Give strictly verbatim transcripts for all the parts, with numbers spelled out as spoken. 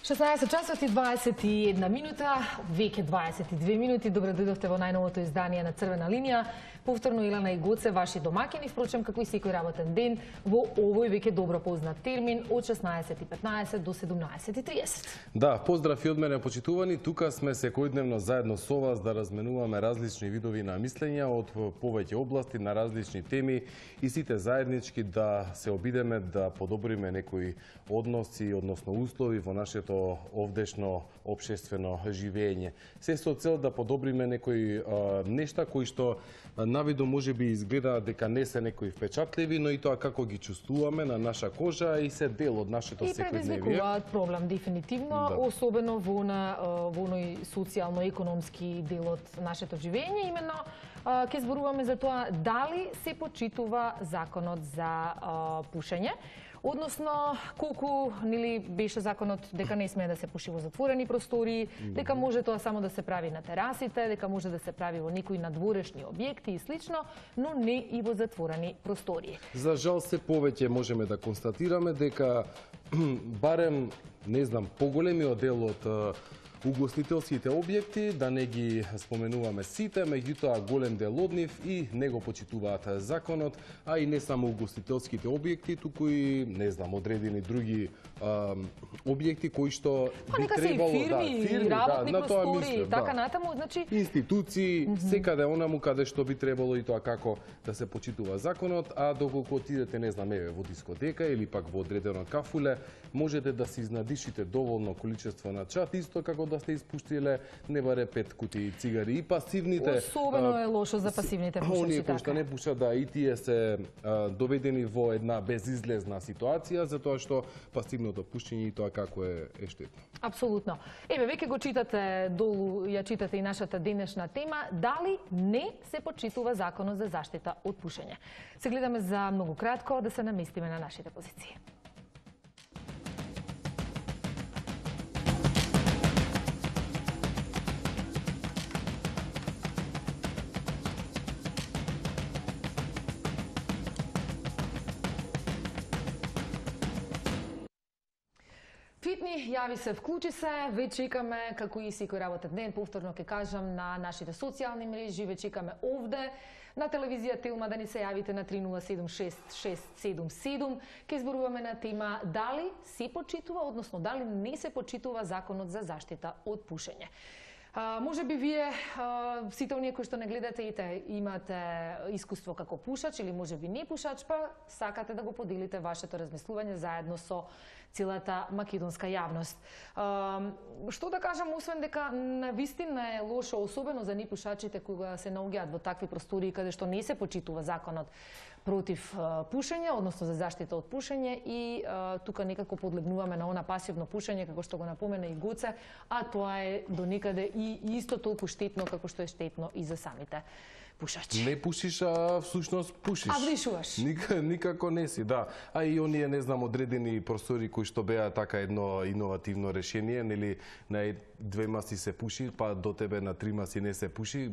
шеснаесет часот и дваесет и една минута, веќе дваесет и две минути. Добро дојдовте во најновото издание на Црвена линија. Повторно Илана и Гоце, ваши домакини, впрочем, како и секој работен ден, во овој веќе добро познат термин од шеснаесет и петнаесет до седумнаесет и триесет. Да, поздрав и од мене, почитувани. Тука сме секојдневно заедно со вас да разменуваме различни видови на мислења од повеќе области на различни теми и сите заеднички да се обидеме да подобриме некои односи, односно услови во нашето овдешно општествено живење. Се со цел да подобриме некои а, нешта кои што навидо може би изгледа дека не се некои впечатливи, но и тоа како ги чувствуваме на наша кожа и се дел од нашето секојдневие. И предизвикуваат проблем дефинитивно, да. Особено во на во оној социјално-економски дел од нашето живење. Именно ќе зборуваме за тоа дали се почитува законот за а, пушење. Односно, колку нели беше законот дека не смее да се пуши во затворени простори, дека може тоа само да се прави на терасите, дека може да се прави во некои надворешни објекти и слично, но не и во затворени простори. За жал се повеќе можеме да констатираме дека барем, не знам, поголемиот дел од угостителските објекти, да не ги споменуваме сите, меѓутоа голем дел од нив и не го почитуваат законот, а и не само угостителските објекти, туку и, не знам, одредени други а, објекти кои што па, би требало фирми, да, фирми, работни да, на тоа простори, мислам, така да. натаму, значи институции, mm -hmm. секаде онаму каде што би требало и тоа како да се почитува законот, а доколку отидете, не знам, еве во дискотека или пак во одредено кафуле, можете да се изнадишите доволно количество на чат, исто како да сте испуштиле не баре пет кутии цигари. И пасивните... Особено е лошо за пасивните пушачи. Оние кои што не пушат, да, и тие се а, доведени во една безизлезна ситуација, затоа што пасивното пушење и тоа како е, е штетно. Апсолутно. Еве, веќе го читате долу, ја читате и нашата денешна тема, дали не се почитува законот за заштита од пушење. Се гледаме за многу кратко да се наместиме на нашите позиции. Фитни, јави се, вклучи се, веќе чекаме, како и секој работен ден, повторно ќе кажам, на нашите социјални мрежи, веќе чекаме овде, на телевизија Телма, да ни се јавите на три нула седум шест шест седум седум. Ке зборуваме на тема дали се почитува, односно дали не се почитува законот за заштита од пушење. А, може би вие, а, сите оние кои што не гледате и те, имате искуство како пушач или може би не пушач, па сакате да го поделите вашето размислување заедно со целата македонска јавност. А, што да кажам, освен дека навистина е лошо, особено за непушачите кога се наоѓаат во такви простори каде што не се почитува законот против а, пушење, односно за заштита од пушење и а, тука некако подлегнуваме на она пасивно пушење, како што го напомена и Гоце, а тоа е до некаде и исто толку штетно како што е штетно и за самите пушачи. Не пушиш, а всушност пушиш. А вдишуваш. Ник, никако не си, да. А и оние, не знам, одредени простори кои што беа така едно иновативно решение, нели, на двема си се пуши, па до тебе на трима си не се пуши,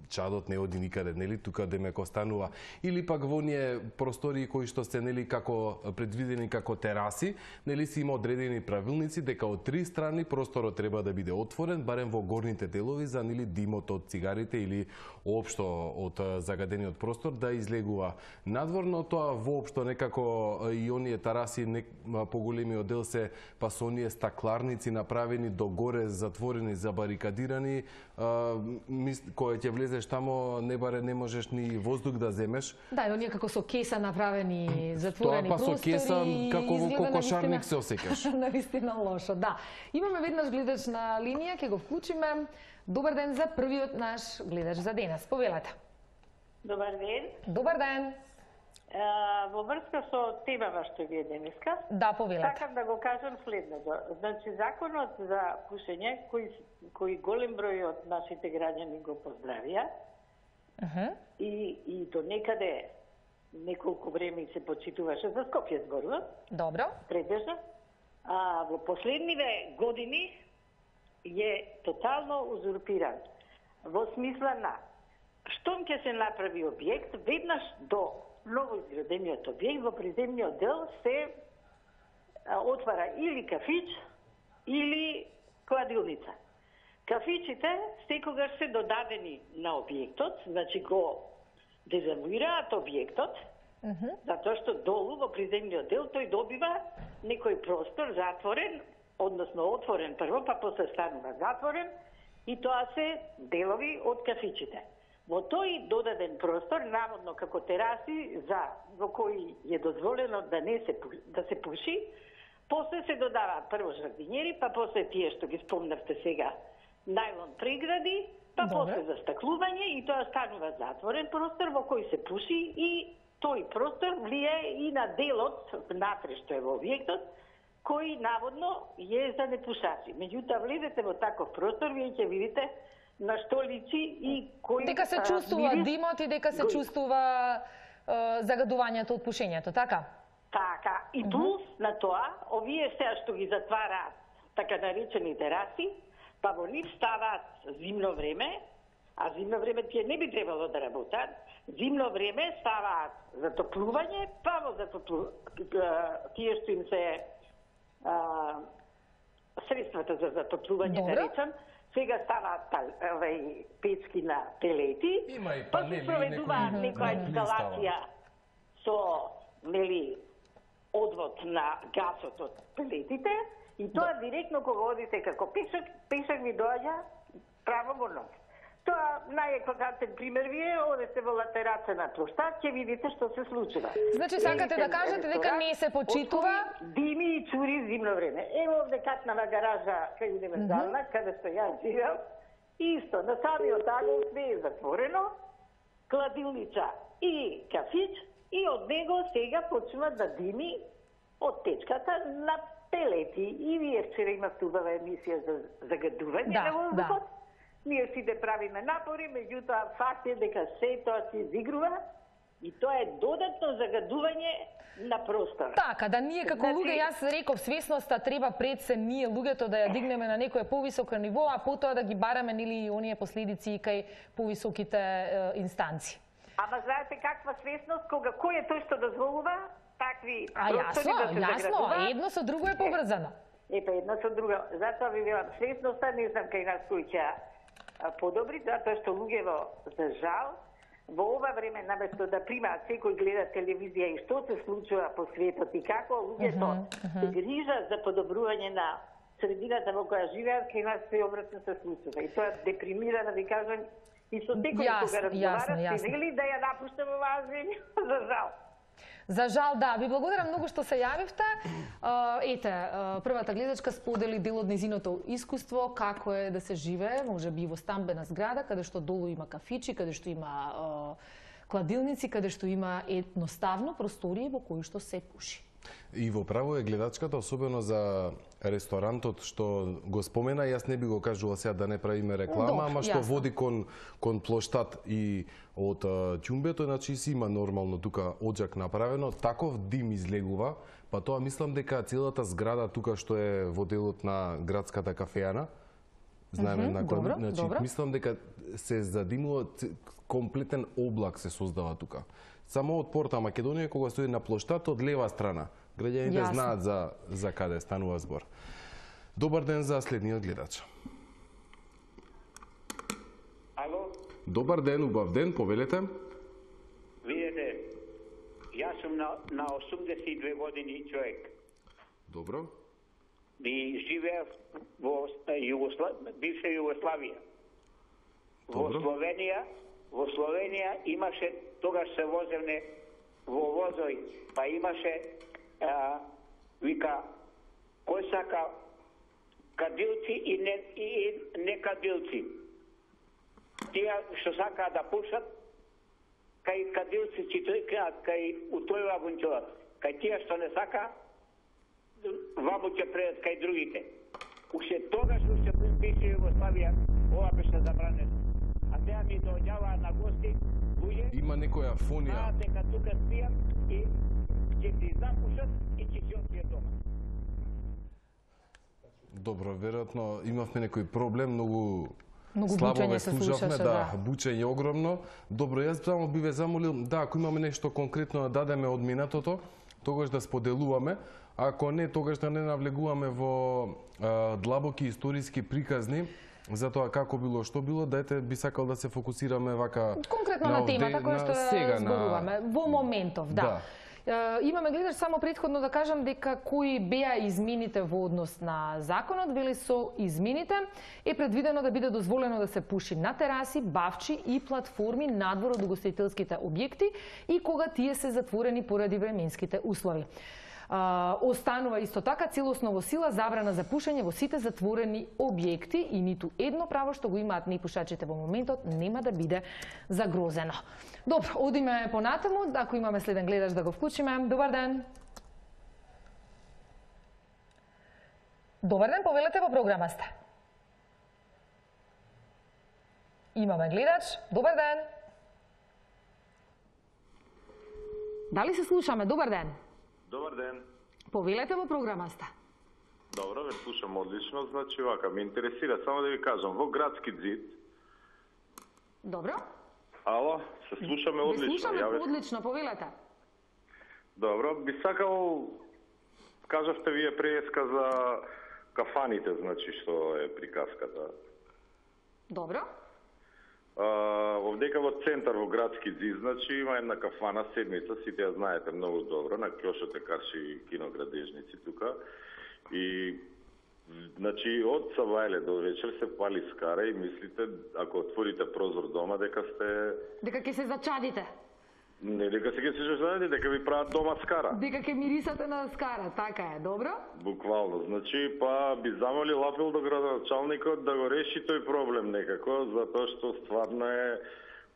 чадот не оди никаде, нели, тука демек останува. Или пак во оние простори кои што се, нели, како предвидени како тераси, нели, си има одредени правилници дека од три страни просторот треба да биде отворен, барем во горните делови за, нели, димот од цигарите или општо од загадениот простор да излегува надвор, но тоа воопшто некако и оние тераси не, поголемиот дел се па со оние стакларници направени до горе затворени, забарикадирани, а, мис, кој ќе влезеш тамо не баре не можеш ни воздух да земеш. Да, и оние како со кеса направени затворени тоа, па простори. Тоа па со кеса како во кокошарник се осеќаш. Навистина лошо, да. Имаме веднаш гледач на линија, ќе го вклучиме. Добар ден за првиот наш гледач за денес. Повелете. Добар ден. Добар ден. А, во врска со темава што ви е денеска, да, повелете. сакам да го кажам следното. Значи, законот за пушење, кој, кој голем број од нашите граѓани го поздравија, uh -huh. и, и до некаде неколку време се почитуваше за Скопје зборувам. Добро. Претежно. А во последниве години е тотално узурпиран. Во смисла на, штом ќе се направи објект, веднаш до ново изградениот објект, во приземниот дел се отвара или кафич, или кладилница. Кафичите секогаш се додадени на објектот, значи го дезавуираат објектот, uh -huh. затоа што долу во приземниот дел тој добива некој простор затворен, односно отворен прво, па после станува затворен, и тоа се делови од кафичите. Во тој додаден простор, наводно како тераси, за во кои е дозволено да не се да се пуши, после се додаваат прво жардинјери, па после тие што ги спомнавте сега, најлон прегради, па Добре. После застаклување, и тоа станува затворен простор во кој се пуши, и тој простор влијае и на делот внатре што е во објектот, кој наводно е за непушачи. Меѓутоа влезете во таков простор, вие ќе видите на што личи и кој дека се чувствува а, димот и дека се чувствува е, загадувањето од пушењето, така? Така, и плюс uh -huh. на тоа, овие сега што ги затвараат така наречени тераси, па во нив ставаат зимно време, а зимно време тие не би требало да работат, зимно време ставаат затоплување, па во затоплување, тие што им се а, средствата за затоплување, Добре. да речам, сега ставаат овај печки на пелети, Има и па се проведуваат некоја инсталација со, нели, одвод на гасот од пелетите, и тоа директно кога одите како пешак, пешак ви доаѓа право во нос. Тоа најекватантен пример ви е, одете во латераца на площад, ќе видите што се случува. Значи сакате да кажете дека не се почитува дими и цури зимно време. Ево овде катнава гаража кај универзална, mm -hmm. каде што јас живеам, исто, на самиот агол све е затворено, кладилница и кафич, и од него сега почнува да дими од печката на пелети. И вие вчера имавте убава емисија за загадување да, на воздухот. Да. Ние сите правиме напори, меѓутоа факт е дека се тоа се изигрува и тоа е додатно загадување на простор. Така, да ние како значи... луѓе, јас реков, свесноста треба пред се ние луѓето да ја дигнеме на некое повисоко ниво, а потоа да ги бараме нели оние последици кај повисоките е, инстанции. Ама знаете каква свесност, кога кој е тој што дозволува такви а, простори јасно, да се јасно, едно со друго е поврзано. Епа, едно со друго. Затоа ви велам, свесноста не знам кај нас кој ќе подобри, затоа што луѓево, за жал, во ова време, наместо да примаат секој гледа телевизија и што се случува по светот и како луѓето uh -huh, uh -huh. се грижат за подобрување на средината во која живеат, кај нас се обратно се случува. И тоа депримира, да ви кажам, и со секој кога разговарат, се вели да ја напуштам оваа земја, за жал. За жал, да. Ви благодарам многу што се јавивте. Ете, првата гледачка сподели дел од незиното искуство, како е да се живее, може би во стамбена зграда, каде што долу има кафичи, каде што има кладилници, каде што има едноставно простории во кои што се пуши. И во право е гледачката, особено за ресторантот што го спомена, јас не би го кажувал сега да не правиме реклама, Добре, ама што јасно. Води кон кон плоштад и од ќумбето, значи си има нормално тука оџак направено, таков дим излегува, па тоа мислам дека целата зграда тука што е во делот на градската кафеана, знаеме mm -hmm, на добро, значи добро. мислам дека се задимува, комплетен облак се создава тука. Само од порта Македонија кога стои на плоштад од лева страна. Граѓаните знаат за за каде станува збор. Добар ден за следниот гледач. Ало? Добар ден, убав ден, повелете. Видете, јас сум на, на осумдесет и две години човек. Добро. И живеев во Југослав... бивша Југославија. Во Словенија, во Словенија имаше, тогаш се возевне во возој, па имаше а, вика, кој сака кадилци и не, и, и не кадилци. Тие што сака да пушат, кај кадилци, кај утој вагончот. Кај тие што не сака, ваму ќе предат кај другите. Уште тогаш, уште пред бивша Југославија, ова беше забранено. А сега ми доаѓаваа на гости луѓе. Има некоја фонија. Знаат дека тука спијам и ќе си запушат и ќе си отијат дома. Добро, веројатно имавме некој проблем, многу Многу слабо бучење ве се слушавме, слушаше, да, да. бучење огромно. Добро, јас само би ве замолил, да, ако имаме нешто конкретно да дадеме од минатото, тогаш да споделуваме, Ако не, тогаш да не навлегуваме во а, длабоки историски приказни за тоа како било, што било, дајте би сакал да се фокусираме вака конкретно на, на темата која што сега зборуваме на... во моментов, да. да. Uh, имаме гледаш само претходно да кажам дека кои беа измените во однос на законот, вели со измените е предвидено да биде дозволено да се пуши на тераси, бавчи и платформи надвор од угостителските објекти и кога тие се затворени поради временските услови. Uh, останува исто така целосно во сила забрана за пушење во сите затворени објекти и ниту едно право што го имаат непушачите во моментот нема да биде загрозено. Добро, одиме понатаму, ако имаме следен гледач да го вклучиме. Добар ден. Добар ден, повелете во програма сте. Имаме гледач. Добар ден. Дали се слушаме? Добар ден. Добар ден. Повелете во програма сте. Добро, ве слушам одлично, значи вака, ме интересира, само да ви кажам, во градски зид... Добро. Ало, се слушаме одлично. Ве слушаме Јаве... одлично, повелете. Добро, би сакал, кажавте вие преска за кафаните, значи, што е приказката. Добро. Овдека во центар во градски зид, значи има една кафана седмица, сите ја знаете многу добро, на Кјошот Карши киноградежници тука. И значи од сабајле до вечер се пали скара и мислите ако отворите прозор дома дека сте дека ќе се зачадите. Не дека се ќе се зачадите, дека ви прават дома скара. Дека ќе мирисате на скара, така е, добро? Буквално, значи па би замолил апел до градоначалникот да го реши тој проблем некако, затоа што стварно е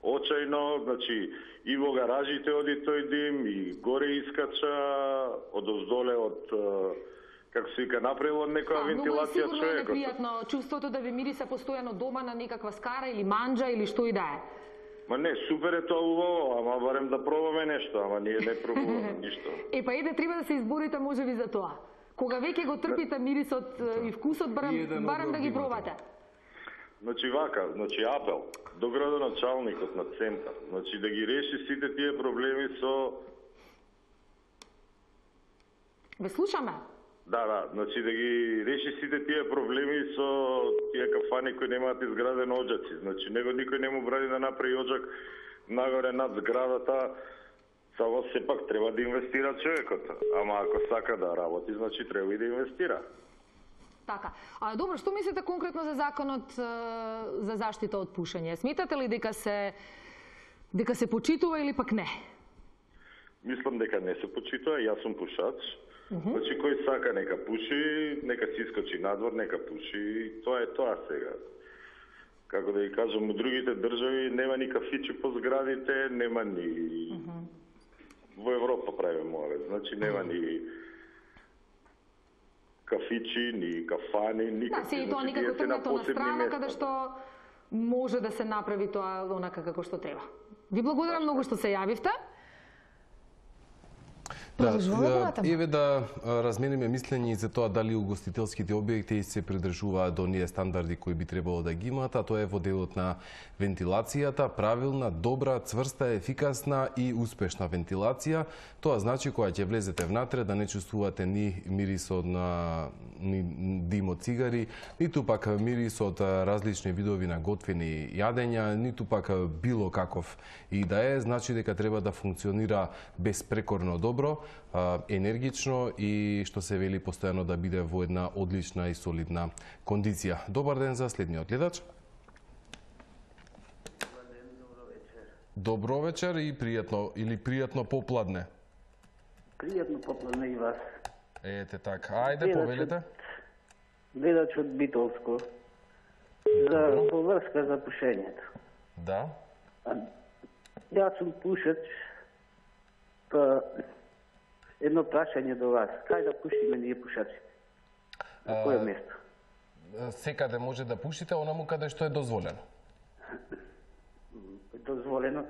очајно, значи и во гаражите оди тој дим, и горе искача, одоздоле од како се вика направило некоја вентилација човекот. Многу е непријатно чувството да ви мириса постојано дома на некаква скара или манџа или што и да е. Ма не, супер е тоа убаво, ама барем да пробаме нешто, ама ние не пробуваме ништо. Е, па еде, треба да се изборите можеби за тоа. Кога веќе го трпите мирисот и вкусот, барем, барем да ги пробате. Значи вака, значи апел до градоначалникот на центар, значи да ги реши сите тие проблеми со... Ве слушаме. Да, да, значи да ги реши сите тие проблеми со тие кафани кои немаат изграден оџаци. Значи него никој не му бради да направи оџак нагоре над зградата. Само сепак треба да инвестира човекот. Ама ако сака да работи, значи треба и да инвестира. Така. А добро, што мислите конкретно за законот за заштита од пушење? Сметате ли дека се дека се почитува или пак не? Мислам дека не се почитува, јас сум пушач. Uh -huh. Значи, кој сака нека пуши, нека си искочи надвор, нека пуши, тоа е тоа сега. Како да ви кажам, у другите држави нема ни кафичи по зградите, нема ни... Uh -huh. Во Европа правиме море, значи нема ни кафичи, ни кафани, никакви. Да, се и тоа никако тргнато на страна, каде што може да се направи тоа онака како што треба. Ви благодарам многу што се јавивте. Да, еве да размениме мислење и за тоа дали угостителските објекти се придржуваат до оние стандарди кои би требало да ги имаат, а тоа е во делот на вентилацијата, правилна, добра, цврста, ефикасна и успешна вентилација. Тоа значи кога ќе влезете внатре да не чувствувате ни мирис од на ни дим од цигари, ниту пак мирис од различни видови на готвени јадења, ниту пак било каков и да е, значи дека треба да функционира безпрекорно добро, енергично и што се вели постојано да биде во една одлична и солидна кондиција. Добар ден за следниот гледач. Добар ден, добро вечер. Добро вечер и пријатно или пријатно попладне. Пријатно попладне и вас. Ете така. Ајде, повелете. Гледач од Битолско. За поврска за пушењето. Да. А, јас сум пушач, па едно прашање до вас. Кај да пушиме ние пушачите? На које место? Секаде може да пушите, онаму каде што е дозволено. Дозволено?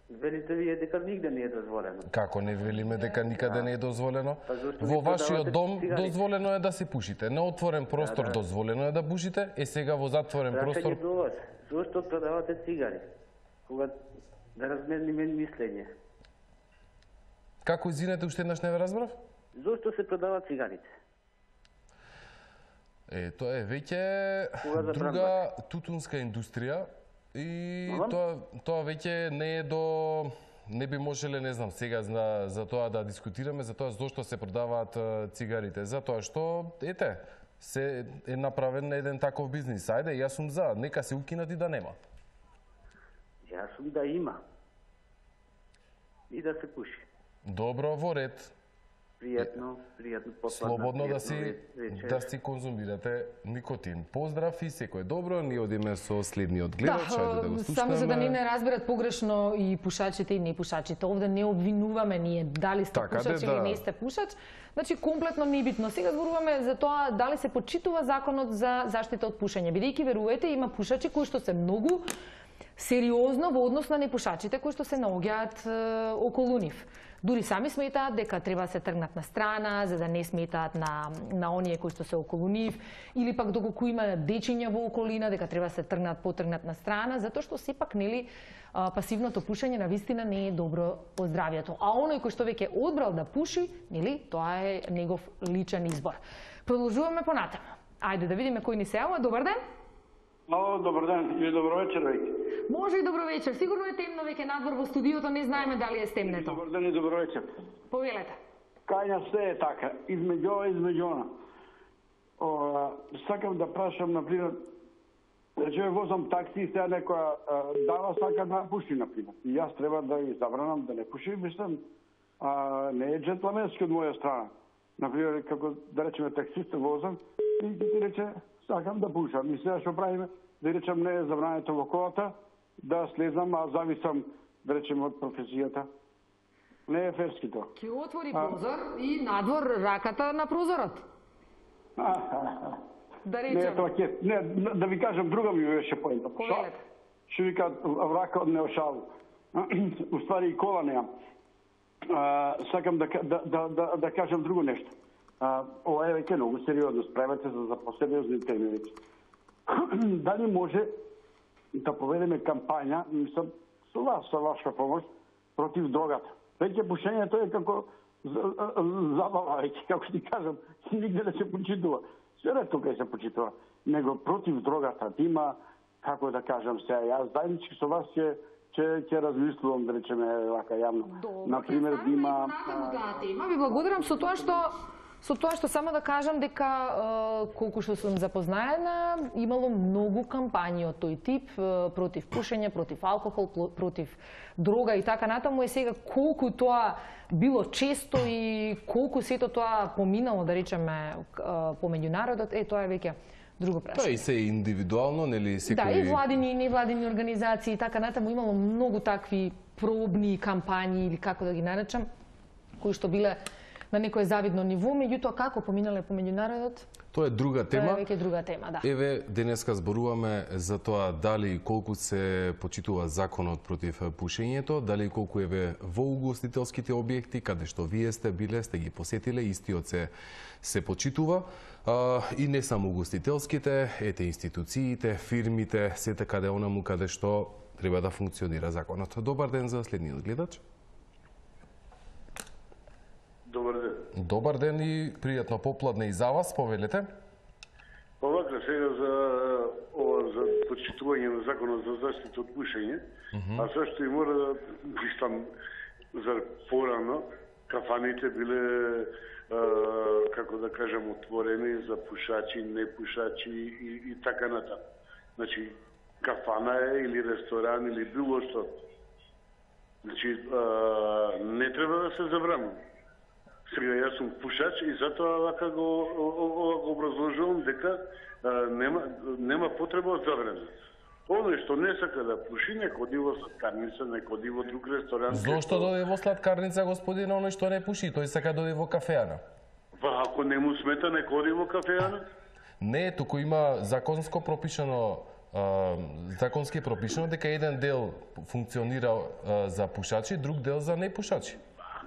Велите вие дека нигде не е дозволено. Како не велиме дека никаде не е дозволено? Па Во вашиот дом дозволено е да се пушите. На отворен простор да, да. дозволено е да пушите, е сега во затворен Прашање простор... до вас. Зошто продавате цигари? Кога да размениме мислење. Како извинете, уште еднаш не ве разбрав? Зошто се продаваат цигарите? Е, тоа е веќе друга тутунска индустрија и Ага. тоа тоа веќе не е до не би можеле, не знам, сега за, за тоа да дискутираме за тоа зошто се продаваат е, цигарите, затоа што ете се е направен еден таков бизнис. Ајде, јас сум за, нека се укинат и да нема. Јас сум да има. И да се пуши. Добро, во ред. Пријатно, пријатно попладна. Слободно да пријатно си вечер. да си конзумирате никотин. Поздрав и секој добро. Ние одиме со следниот гледач, ајде да го слушнеме. Само за да не не разберат погрешно и пушачите и непушачите. Овде не обвинуваме ние дали сте Така, пушач де, или да. не сте пушач. Значи комплетно небитно. Сега зборуваме за тоа дали се почитува законот за заштита од пушење. Бидејќи верувате има пушачи кои што се многу сериозно во однос на непушачите кои што се наоѓаат е, околу нив. Дури сами сметаат дека треба да се тргнат на страна, за да не сметаат на, на оние кои што се околу нив, или пак доколку има дечиња во околина, дека треба да се тргнат, потргнат на страна, затоа што сепак, нели, а, пасивното пушење на вистина не е добро по здравјето. А оној кој што веќе одбрал да пуши, нели, тоа е негов личен избор. Продолжуваме понатаму. Ајде да видиме кој ни се јавува. Добар ден. Ало, добар ден или добро вечер веќе. Може и добро вечер. Сигурно е темно веќе надвор во студиото, не знаеме дали е стемнето. Добар ден и добро вечер. Повелете. Кај нас се е така, измеѓу ова и измеѓу она. О, сакам да прашам, например, речеме возам такси и сега некоја а, дава сака да пуши, например. И јас треба да ја забранам да не пуши, мислам, а, не е джентлменски од моја страна. Например, како да речеме таксист возам и ти рече сакам да пушам. И сега што правиме? Да речем не е забрането во колата, да слезам, а зависам, да речем, од професијата. Не е ферски тоа. Ќе отвори прозор и надвор раката на прозорот. Да Не, речем. тоа ќе, не, да ви кажам, друга ми беше поента. Повелете. Што викаат врака од неошалу. Уствари и кола немам. А, сакам да, да, да, да, да кажам друго нешто. А, ова е веќе многу сериозно. Справете се за посериозни теми веќе. Дали може да поведеме кампања, мислам, со вас, со ваша помош, против дрогата? Веќе пушењето е како забава, веќе, како ти кажам, нигде не се почитува. Се ретко кај се почитува. Него против дрогата, да има, како да кажам сега, јас заеднички со вас ќе ќе ќе размислувам, да речеме, вака јавно. Добро, Например, ќе да има ставиме таа тема. Ви благодарам со тоа што Со тоа што само да кажам дека е, колку што сум запознаена, имало многу кампањи од тој тип е, против пушење, против алкохол, против дрога и така натаму. Е сега колку тоа било често и колку сето тоа поминало, да речеме, помеѓу народот, е тоа е веќе друго прашање. Тоа и се индивидуално, нели секој... Да, и владини, и невладини организации и така натаму имало многу такви пробни кампањи или како да ги наречам, кои што биле на некое завидно ниво, меѓутоа како поминале помеѓу народот? Тоа е друга тема. Тоа е веќе друга тема, да. Еве, денеска зборуваме за тоа дали и колку се почитува законот против пушењето, дали и колку еве во угостителските објекти, каде што вие сте биле, сте ги посетиле, истиот се се почитува. А, и не само угостителските, ете институциите, фирмите, сете каде онаму каде што треба да функционира законот. Добар ден за следниот гледач. Добар ден. Добар ден и пријатно попладне и за вас, повелете. Па вака сега за ова за почитување на законот за заштита од пушење, uh -huh. а зашто и мора да вистам за порано кафаните биле а, како да кажам отворени за пушачи, непушачи и, и така натаму. Значи кафана е или ресторан или било што. Значи а, не треба да се забранува. Сега јас сум пушач и затоа вака го, го образложувам дека а, нема, нема потреба од забрана. Оној што не сака да пуши, не ходи во сладкарница, не ходи во друг ресторан. Зошто дојде во сладкарница, господин, оној што не пуши? Тој сака дојде во кафеана. Па ако не му смета, не ходи во кафеана? Не, туку има законско пропишано а, законски пропишано дека еден дел функционира а, за пушачи, друг дел за непушачи.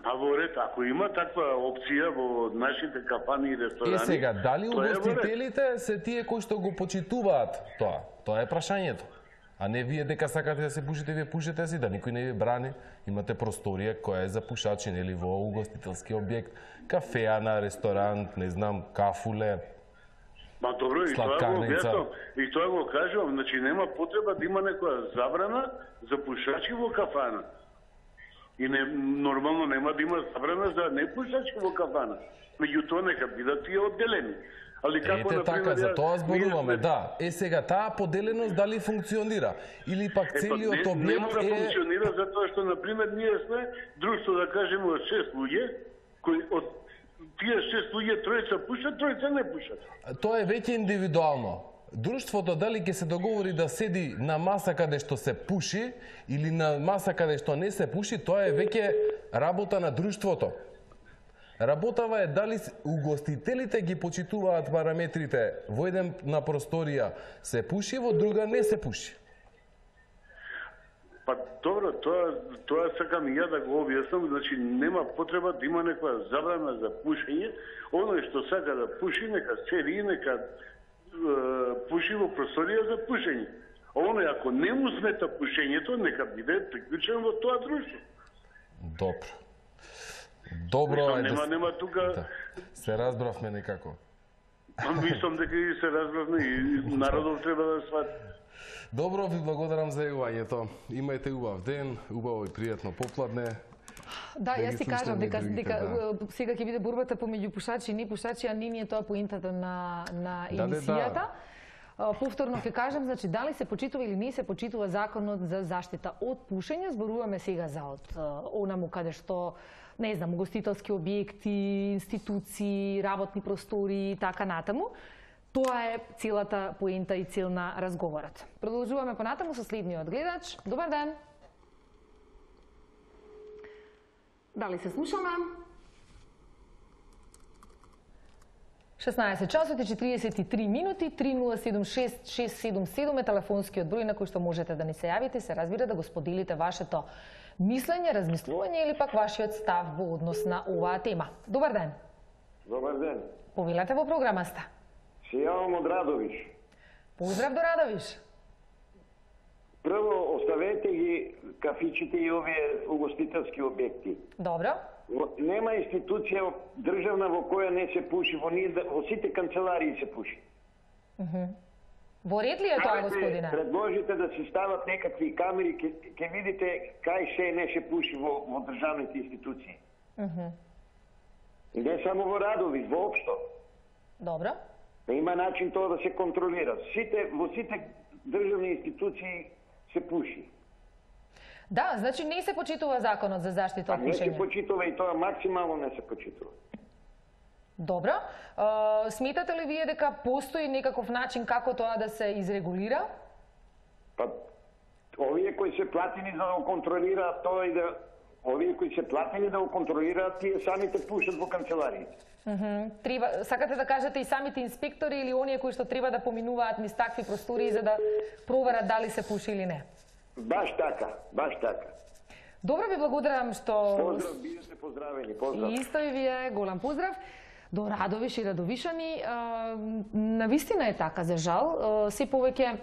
Па во ред, ако има таква опција во нашите кафани и ресторани... Е сега, дали тоа е во ред. угостителите се тие кои што го почитуваат тоа? Тоа е прашањето. А не вие дека сакате да се пушите, вие пушете си, да никој не ви брани. Имате просторија која е за пушачи, нели, во угостителски објект, кафеана, ресторант, не знам, кафуле. Па добро, и тоа го објаснам, и тоа го кажувам, значи нема потреба да има некоја забрана за пушачи во кафана. И не, нормално нема да има забрана за непушачи во кафана. Меѓутоа нека бидат тие одделени. Али како, Ете например, така, за тоа зборуваме, ние... да. Е сега, таа поделеност дали функционира? Или пак целиот е, па, не, објект нема да е... функционира затоа што, например, ние сме друштво, да кажеме, од шест луѓе, кои од тие шест луѓе тројца пушат, тројца не пушат. Тоа е веќе индивидуално. Друштвото дали ќе се договори да седи на маса каде што се пуши или на маса каде што не се пуши, тоа е веќе работа на друштвото. Работава е дали угостителите ги почитуваат параметрите во една просторија се пуши, во друга не се пуши. Па добро, тоа тоа сакам и ја да го објаснам, значи нема потреба да има некоја забрана за пушење. Оној што сака да пуши, нека седи, нека пуши во просторија за пушење. А оној ако не му смета пушењето, нека биде приклучен во тоа друштво. Добро. Добро Мислам, е нема, да... нема тука... Да. Се разбравме некако. Мислам дека и се разбравме и народот треба да свати. Добро, ви благодарам за јавањето. Имајте убав ден, убаво и пријатно попладне. Да, да јас ти кажам дека, дека да. сега ќе биде борбата помеѓу пушачи и не пушачи, а не ни е тоа поентата на, на да, емисијата. Да, да. Повторно ќе кажам, значи, дали се почитува или не се почитува законот за заштита од пушење. Зборуваме сега за од онаму каде што, не знам, угостителски објекти, институции, работни простори и така натаму. Тоа е целата поента и цел на разговорот. Продолжуваме понатаму со следниот гледач. Добар ден! Дали се слушаме? шеснаесет часот и четириесет и три минути, три нула седум шест шест седум седум е телефонскиот број на кој што можете да ни се јавите, се разбира да го споделите вашето мислење, размислување или пак вашиот став во однос на оваа тема. Добар ден! Добар ден! Повелете во програмаста. Се јавам од Радовиш. Поздрав до Радовиш! Прво, оставете ги кафичите и овие угостителски објекти. Добро. Нема институција државна во која не се пуши, во, ние, во сите канцеларии се пуши. Uh -huh. Во ред ли е тоа, господине? Предложите да се стават некакви камери, ке, ке видите кај се не се пуши во, во државните институции. Uh -huh. И не само во Радовиш, воопшто. Добро. Има начин тоа да се контролира. Сите, во сите државни институции се пуши. Да, значи не се почитува законот за заштита од пушење. Не се пушење. почитува и тоа максимално не се почитува. Добро. Uh, сметате ли вие дека постои некаков начин како тоа да се изрегулира? Па, овие кои се платени за да го контролираат тоа и да... Овие кои се платени да го контролираат, тие самите пушат во канцелариите. Uh -huh. Треба, сакате да кажете и самите инспектори или оние кои што треба да поминуваат низ такви простори за да проверат дали се пуши или не? Баш така, баш така. Добро, ви благодарам што... Поздрав, бидете поздравени, поздрав. И исто и вие, голем поздрав. До Радовиш и Радовишани, навистина е така, за жал. Се повеќе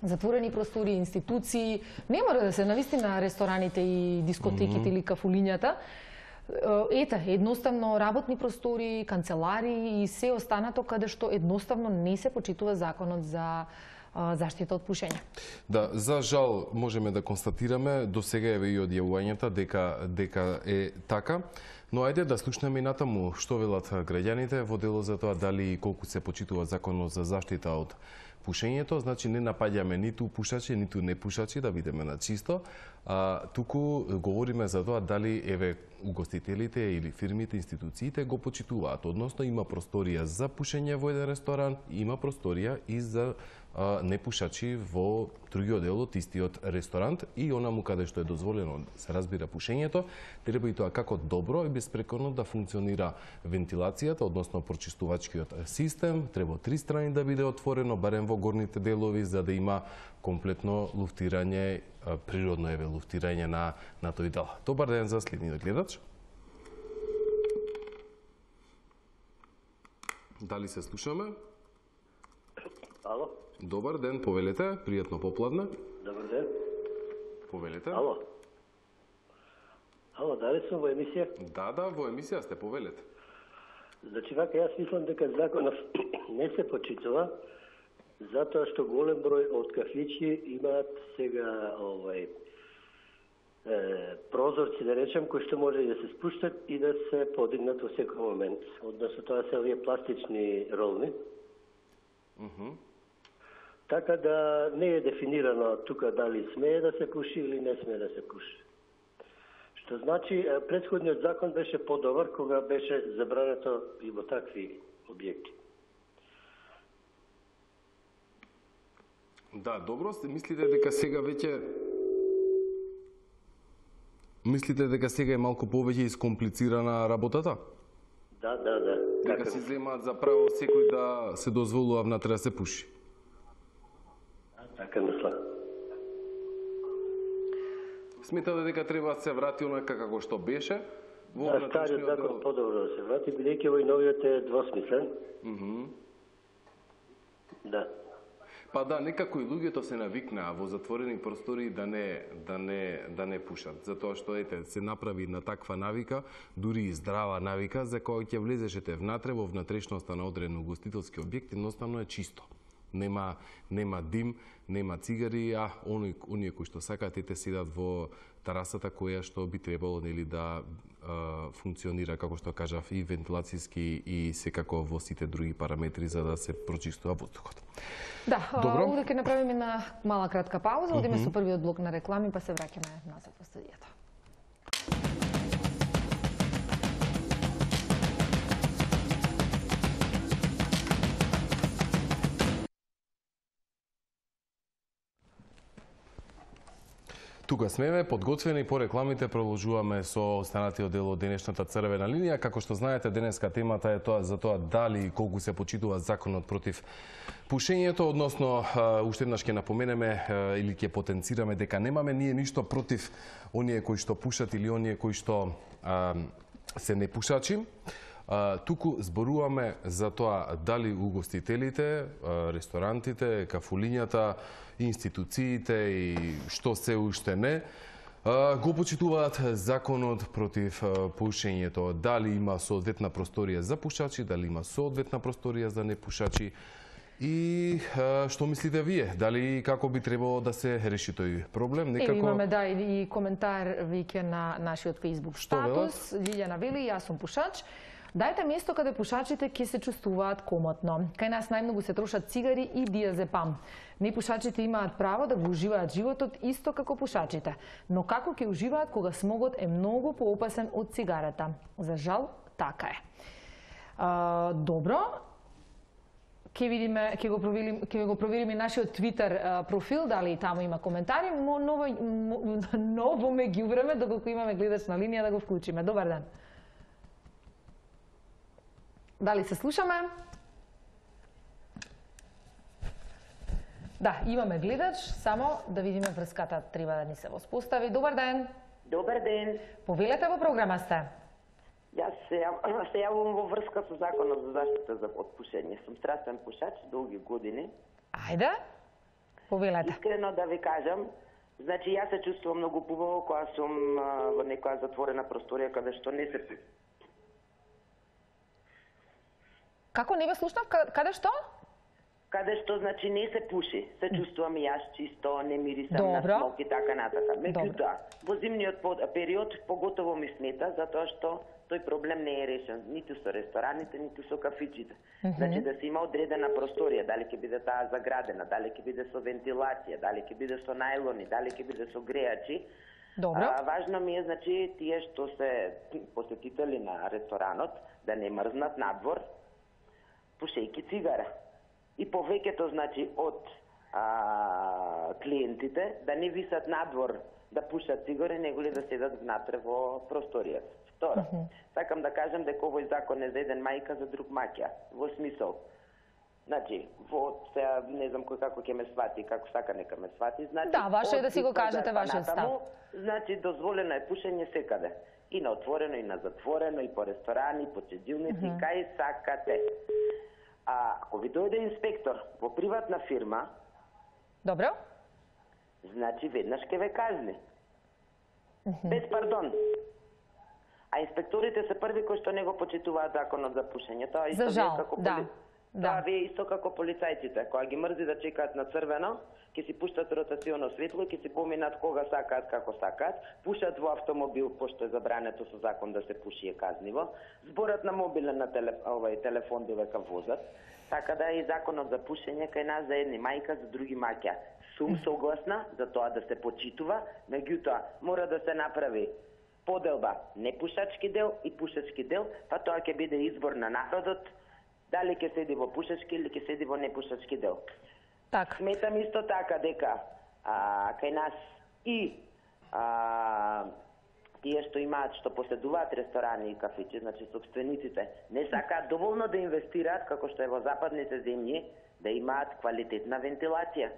затворени простори, институции, не мора да се навистина рестораните и дискотеките mm -hmm. или кафулињата. Ете, едноставно работни простори, канцелари и се останато каде што едноставно не се почитува законот за заштита од пушење. Да, за жал можеме да констатираме до сега еве и од јавувањата дека дека е така. Но ајде да слушнеме и натаму што велат граѓаните во дело за тоа дали и колку се почитува законот за заштита од пушењето. Значи не напаѓаме ниту пушачи, ниту непушачи, да бидеме на чисто, а туку говориме за тоа дали еве угостителите или фирмите, институциите го почитуваат. Односно има просторија за пушење во еден ресторан, има просторија и за а, непушачи во другиот дел од истиот ресторант и онаму каде што е дозволено се разбира пушењето, треба и тоа како добро и беспрекорно да функционира вентилацијата, односно прочистувачкиот систем, треба од три страни да биде отворено, барем во горните делови, за да има комплетно луфтирање, природно еве луфтирање на на тој дел. Добар ден за следниот гледач. Дали се слушаме? Ало? Добар ден, повелете, пријатно попладне. Добар ден. Повелете. Ало. Ало, дали сум во емисија? Да, да, во емисија сте, повелете. Значи, вака, јас мислам дека законов не се почитува, затоа што голем број од кафичи имаат сега овај е, прозорци, да речем, кои што може да се спуштат и да се подигнат во секој момент. Односно, тоа се овие пластични ролни. Uh -huh. Така да не е дефинирано тука дали смее да се пуши или не смее да се пуши. Што значи, претходниот закон беше подобар кога беше забрането и во такви објекти. Да, добро, мислите дека сега веќе Мислите дека сега е малку повеќе искомплицирана работата? Да, да, да. Дека Така... си земаат за право секој да се дозволува внатре да се пуши? Така мислам. Сметате дека треба да се врати онака како што беше? Во Да, стариот закон подобро да се врати, бидејќи овој новиот е двосмислен. Mm -hmm. Да. Па да, некако и луѓето се навикнаа во затворени простори да не да не да не пушат, затоа што ете се направи на таква навика, дури и здрава навика, за која ќе влезешете внатре во внатрешноста на одреден угостителски објект, едноставно е чисто. Нема нема дим, нема цигари, а они оние кои што сакаат ете седат во терасата која што би требало нели да а, функционира како што кажав и вентилацијски и секако во сите други параметри за да се прочистува воздухот. Да, Добро. овде ќе направиме една мала кратка пауза, одиме mm -hmm. со првиот блок на реклами, па се враќаме назад во студијата. Тука смеме, подготвени по рекламите, продолжуваме со останатиот дел од денешната црвена линија. Како што знаете, денеска темата е тоа за тоа дали и колку се почитува законот против пушењето, односно уште еднаш ќе напоменеме или ќе потенцираме дека немаме ние ништо против оние кои што пушат или оние кои што а, се непушачи. Uh, туку зборуваме за тоа дали угостителите, uh, ресторантите, кафулињата, институциите и што се уште не, uh, го почитуваат законот против uh, пушењето. Дали има соодветна просторија за пушачи, дали има соодветна просторија за непушачи. И uh, што мислите вие? Дали како би требало да се реши тој проблем? Некако... Еви имаме да и коментар веќе на нашиот Facebook статус. Лилјана вели, јас сум пушач. Дајте место каде пушачите ќе се чувствуваат комотно. Кај нас најмногу се трошат цигари и диазепам. Непушачите имаат право да го уживаат животот исто како пушачите. Но како ќе уживаат кога смогот е многу поопасен од цигарата? За жал, така е. А, добро. Ќе видиме, ќе го провериме, ќе го провериме нашиот Twitter профил, дали таму има коментари. Мо, ново, ново ме ги увреме, доколку имаме гледач на линија да го вклучиме. Добар ден. Дали се слушаме? Да, имаме гледач, само да видиме врската треба да ни се воспостави. Добар ден. Добар ден. Повелете во програма сте. Јас се, јав, се јавувам во врска со законот за заштита за од пушење. Сум страстен пушач, долги години. Ајде, повелете. Искрено да ви кажам, значи јас се чувствувам многу побаво кога сум во некоја затворена просторија каде што не се... Како не ве слушнав? Каде што? Каде што, значи, не се пуши. Се чувствувам и јас чисто, не мирисам на смок и така натака. Меѓутоа, во зимниот период поготово ми смета, затоа што тој проблем не е решен ниту со рестораните, ниту со кафичите. Mm -hmm. Значи да се има одредена просторија, дали ќе биде таа заградена, дали ќе биде со вентилација, дали ќе биде со најлони, дали ќе биде со греачи. Добро. А, важно ми е, значи, тие што се посетители на ресторанот да не мрзнат надвор, пушејки цигара. И повеќето, значи, од а, клиентите да не висат надвор да пушат цигари, него ли да седат внатре во просторијата. Второ, mm -hmm. сакам да кажам дека овој закон е за еден мајка, за друг маќа. Во смисол, значи, во сега не знам кој како ќе ме свати, како сака нека ме свати, значи... Да, ваше е да си го кажете вашиот став. Значи, дозволено е пушење секаде. И на отворено, и на затворено, и по ресторани, и по чедилници, mm -hmm. кај сакате. А ако ви дојде инспектор во приватна фирма, добро, значи веднаш ќе ве казни. Без пардон. А инспекторите се први кои што не го почитуваат законот за пушење. Тоа исто За жал, како да. поли... Да. Тоа вие исто како полицајците, кога ги мрзи да чекаат на црвено, ќе си пуштат ротационо светло, ќе си поминат кога сакаат, како сакаат, пушат во автомобил, пошто е забрането со закон да се пуши е казниво, зборат на мобилен на телеф... овај телефон додека возат. Така да и законот за пушење кај нас за едни мајка, за други маќа. Сум согласна за тоа да се почитува, меѓутоа мора да се направи поделба непушачки дел и пушачки дел, па тоа ќе биде избор на народот дали ќе седи во пушачки или ќе седи во непушачки дел. Так. Сметам исто така дека а, кај нас и а, тие што имаат, што поседуваат ресторани и кафичи, значи собствениците, не сакаат доволно да инвестираат, како што е во западните земји, да имаат квалитетна вентилација.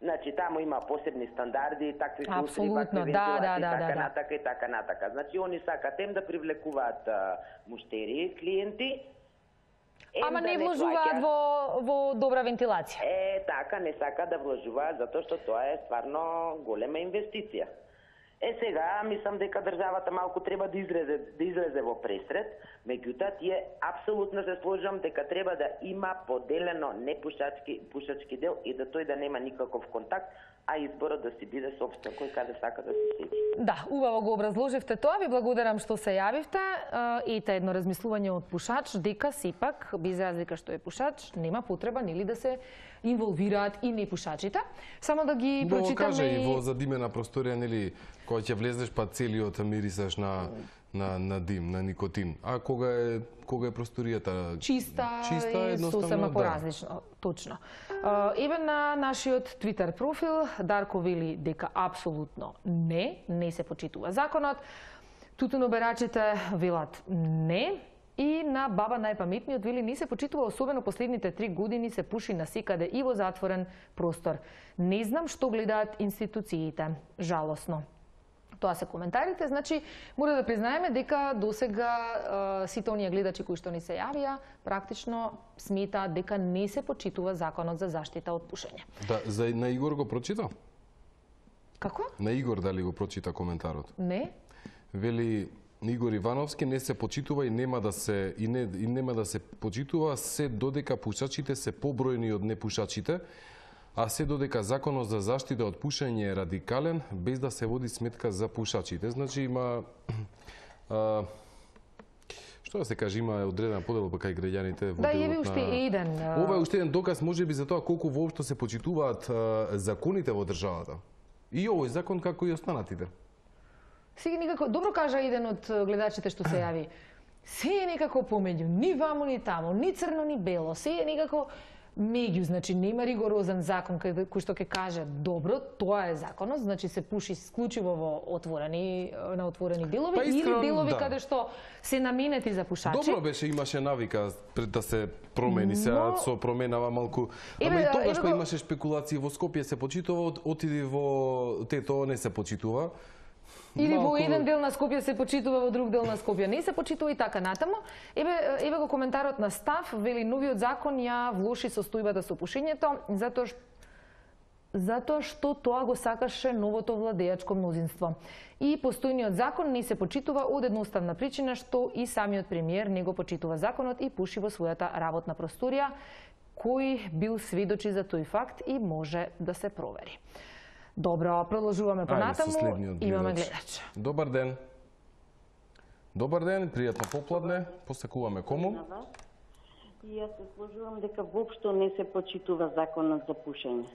Значи, таму има посебни стандарди, такви филтри, вакви вентилации, да, да, така да, да. натака и така натака. Значи, они сакаат ем да привлекуваат а, муштери, клиенти, ем Ама да не не вложуваат плаќаат. во, во добра вентилација. Е, така, не сака да вложуваат, затоа што тоа е стварно голема инвестиција. Е, сега, мислам дека државата малку треба да излезе, да излезе во пресред, меѓутоа, тие апсолутно се сложам дека треба да има поделено непушачки пушачки дел и да тој да нема никаков контакт, а изборот да си биде собствен, кој каде сака да се седи. Да, убаво го образложивте тоа, ви благодарам што се јавивте. Ете едно размислување од пушач, дека сепак, без разлика што е пушач, нема потреба нели да се инволвираат и непушачите. Само да ги Убаво прочитаме каже и во задимена просторија, нели, кога ќе влезеш па целиот мирисаш на на на дим, на никотин. А кога е кога е просторијата чиста, чиста и едноставно сосема да. поразлично, точно. Uh, еве на нашиот Twitter профил Дарко вели дека апсолутно не, не се почитува законот. Тутуноберачите велат не. И на баба најпаметниот вели не се почитува, особено последните три години се пуши насекаде и во затворен простор. Не знам што гледаат институциите. Жалосно. Тоа се коментарите, значи мора да признаеме дека досега сите оние гледачи кои што ни се јавија практично сметаат дека не се почитува законот за заштита од пушење. Да, за на Игор го прочита? Како? На Игор дали го прочита коментарот? Не. Вели Игор Ивановски не се почитува и нема да се и не и нема да се почитува се додека пушачите се побројни од непушачите, а се додека законот за заштита од пушење е радикален, без да се води сметка за пушачите. Значи има а, што да се каже, има одредена поделба кај граѓаните во Да, делот еве уште на... еден. Ова е уште еден доказ можеби за тоа колку воопшто се почитуваат а, законите во државата. И овој закон како и останатите. Сега никако, добро кажа еден од гледачите што се јави. Се е некако помеѓу, ни ваму ни таму, ни црно ни бело, се е некако меѓу, значи нема ригорозен закон кој, кој што ќе каже добро, тоа е законот, значи се пуши исклучиво во отворени на отворени делови Па, искрен, или делови да. каде што се наменети за пушачи. Добро беше, имаше навика пред да се промени, сега Но... со променава малку. Еве, Ама и тогаш еве па го... имаше спекулации, во Скопје се почитува, от- отиди во Тето не се почитува. Или Малку... во еден дел на Скопје се почитува, во друг дел на Скопје не се почитува и така натаму. Еве, еве го коментарот на Став, вели новиот закон ја влоши состојбата со пушењето, затоа што затоа што тоа го сакаше новото владеачко мнозинство. И постојниот закон не се почитува од едноставна причина што и самиот премиер не го почитува законот и пуши во својата работна просторија, кој бил сведочи за тој факт и може да се провери. Добро, продолжуваме понатаму. Имаме гледач. Добар ден. Добар ден, пријатно попладне. Посекуваме кому? И јас се сложувам дека воопшто не се почитува законот за пушење.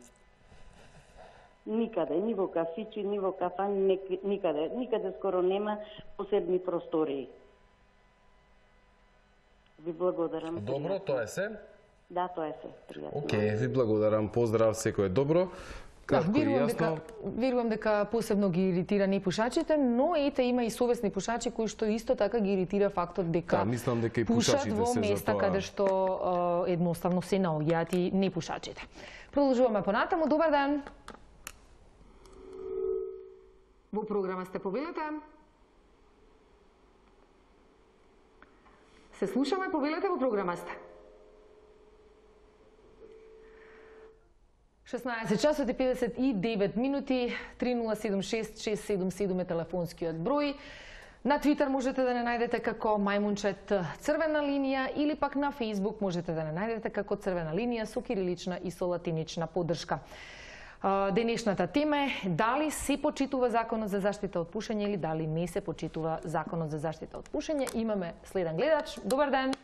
Никаде, ни во кафичи, ни во кафани, никаде, никаде скоро нема посебни простории. Ви благодарам. Добро, тоа е се? Да, тоа е се. Пријатно. Океј, ви благодарам. Поздрав, секој е добро. Кратко Да, и верувам јасно. дека, верувам дека посебно ги иритира непушачите, но ете има и совесни пушачи кои што исто така ги иритира фактот дека Да, мислам дека и пушат пушачите во се за места тоа. каде што е, едноставно се наоѓаат и непушачите. Продолжуваме понатаму. Добар ден. Во програма сте, повелете. Се слушаме, повелете, во програма сте. шеснаесет часот и педесет и девет минути, три нула седум шест шест седум седум е телефонскиот број. На Твитер можете да не најдете како Мајмунчет црвена линија или пак на Фејсбук можете да не најдете како црвена линија со кирилична и со латинична поддршка. Денешната тема е дали се почитува законот за заштита од пушење или дали не се почитува законот за заштита од пушење. Имаме следен гледач. Добар ден.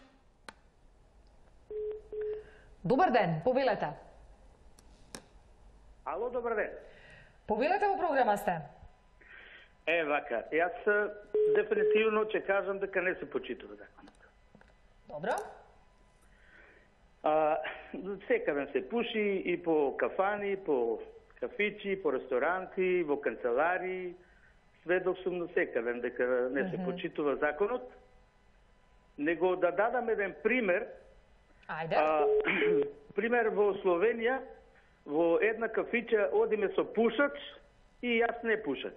Добар ден, повелете. Ало, добар ден. Повелете во програма сте. Е, вака, јас дефинитивно ќе кажам дека не се почитува законот. Добро. А, секаде се пуши и по кафани, по кафичи, по ресторанти, во канцелари, сведок сум на секаде дека не се mm -hmm. почитува законот. Него да дадам еден пример. Ајде. А, пример во Словенија, во една кафича одиме со пушач и јас не пушач.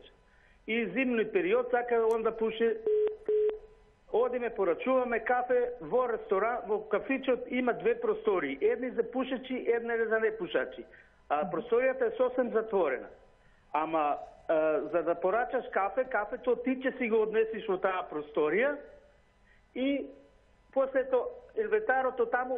И зимни период сака он да пуши. Одиме, порачуваме кафе во ресторан, во кафичот има две простори. Едни за пушачи, една за непушачи. А просторијата е сосем затворена. Ама а, за да порачаш кафе, кафето ти ќе си го однесиш во таа просторија и после то инвентарото таму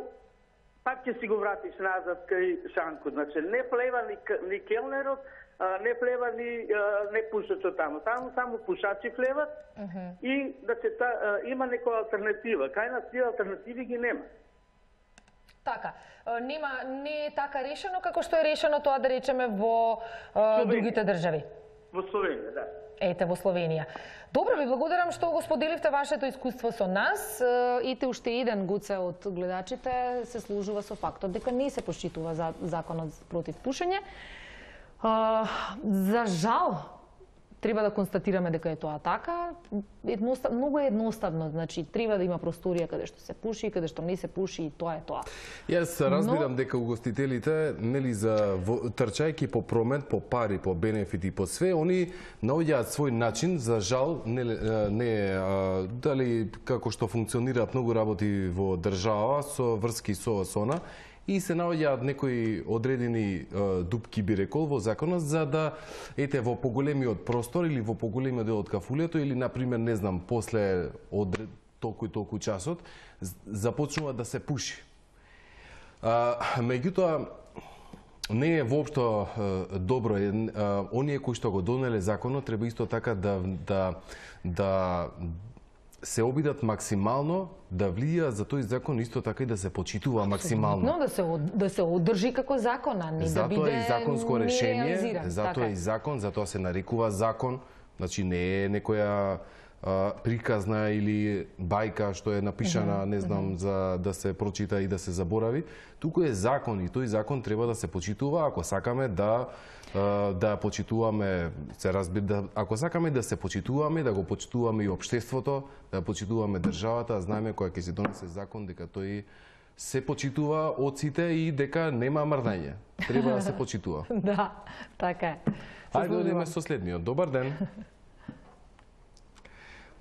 пак ќе си го вратиш назад кај шанкот. Значи не влева ни, ни келнерот, а, не влева ни а, не пушачот таму. Таму само пушачи влеват uh -huh. и да се та, а, има некоја алтернатива. Кај нас тие алтернативи ги нема. Така, нема не е така решено како што е решено тоа да речеме во а, другите држави. Во Словенија, да. Ете, во Словенија. Добро, ви благодарам што го споделивте вашето искуство со нас. Ете, уште еден гуце од гледачите се служува со фактот дека не се почитува за законот против пушење. За жал, треба да констатираме дека е тоа така. Едностав, многу е едноставно, значи треба да има просторија каде што се пуши, каде што не се пуши и тоа е тоа. Јас разбирам Но... дека угостителите, нели за трчајки по промет, по пари, по бенефити, по све, они наоѓаат свој начин, за жал, не, не а, дали како што функционираат многу работи во држава со врски со сона, и се наоѓаат некои одредени е, дупки, би рекол, во законот, за да, ете, во поголемиот простор или во поголемиот дел од кафулето, или, например, не знам, после од толку и толку часот, започнува да се пуши. А, меѓутоа, не е воопшто е, добро. Е, оние кои што го донеле законот, треба исто така да, да, да се обидат максимално да влијаат за тој закон, исто така и да се почитува максимално. Но да се да се одржи како закон, а не да биде затоа е законско решение, затоа така. е закон, затоа се нарекува закон, значи не е некоја а, приказна или бајка што е напишана, не знам, за да се прочита и да се заборави. Туку е закон и тој закон треба да се почитува ако сакаме да да почитуваме, се разбира, да, ако сакаме да се почитуваме, да го почитуваме и општеството, да почитуваме државата, знаеме која ќе се донесе закон дека тој се почитува од сите и дека нема мрдање. Треба да се почитува. Да, така е. Ајде да одиме со следниот. Добар ден.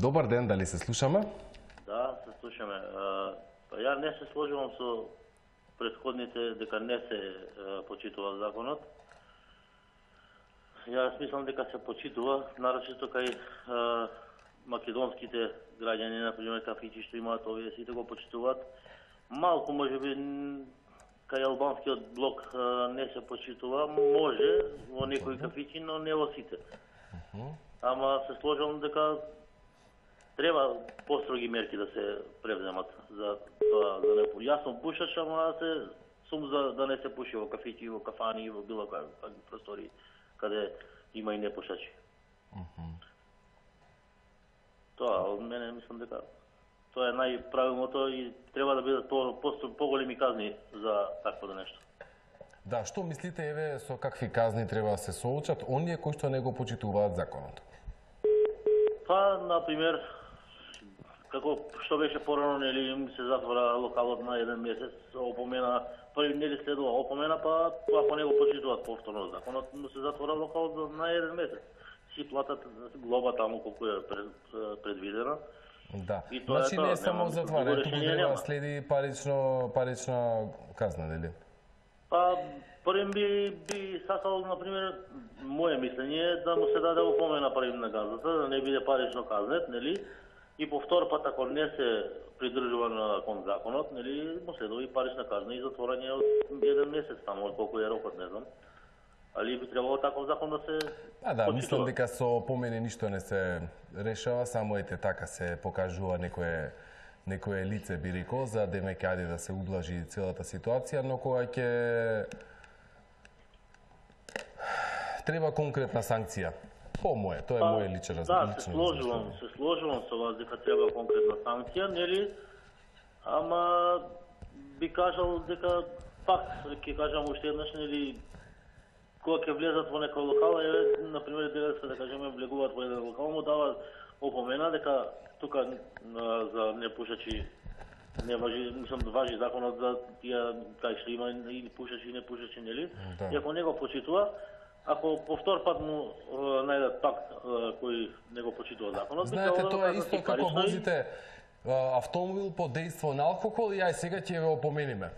Добар ден, дали се слушаме? Да, се слушаме. Па ја не се сложувам со претходните дека не се почитува законот. Јас мислам дека се почитува, нарочито кај е, македонските граѓани, например, кафичи што имаат овие, сите го почитуваат. Малку, можеби, кај албанскиот блок е, не се почитува, може во некои кафичи, но не во сите. Ама се сложам дека треба построги мерки да се превземат за тоа, за не пуши. Јас сум пушач, ама се сум за да не се пуши во кафичи, во кафани, во било какви простори каде има и непушачи. Uh -huh. Тоа, од мене мислам дека тоа е најправилното и треба да бидат по, по, поголеми казни за такво нешто. Да, што мислите, еве, со какви казни треба да се соочат оние кои што не го почитуваат законот? Па, например, како што беше порано, нели, им се затвора локалот на еден месец, опомена, први нели следува опомена, па ако не го почитуваат повторно законот, но се затвора локалот на еден месец. Си платат глоба таму колку е пред, предвидена. Да. И тоа значи е тоа, не само затварање, туку треба нема. следи парично парична казна, нели? Па, првим би, би сакал, например, моје мислење, да му се даде опомена првим на газата, да не биде парично казнет, нели? И по втор пат, ако не се придржува на кон законот, нели, му следува и парична казна и затворање од еден месец таму, колку е рокот, не знам. Али би требало таков закон да се А да, почитува. мислам дека со опомени ништо не се решава, само ете така се покажува некое некое лице, би рекол, за демек ајде да се ублажи целата ситуација, но кога ќе треба конкретна санкција. По моје, тоа е Па, моје личен Да, лично се сложувам, се сложувам со вас дека треба конкретна санкција, нели? Ама би кажал дека пак ќе кажам уште еднаш, нели, кога ќе влезат во некој локал, е, например, девет да кажеме влегуваат во еден локал, му дава опомена дека тука на, за непушачи не важи, мислам да важи законот за тие кај што има и пушачи и непушачи, нели? Да. И ако не го почитува, ако по втор пат му е, најдат пак е, кој не го почитува законот, Знаете, да тоа е исто како парично и- возите а, автомобил под дејство на алкохол и ај сега ќе ве опомениме.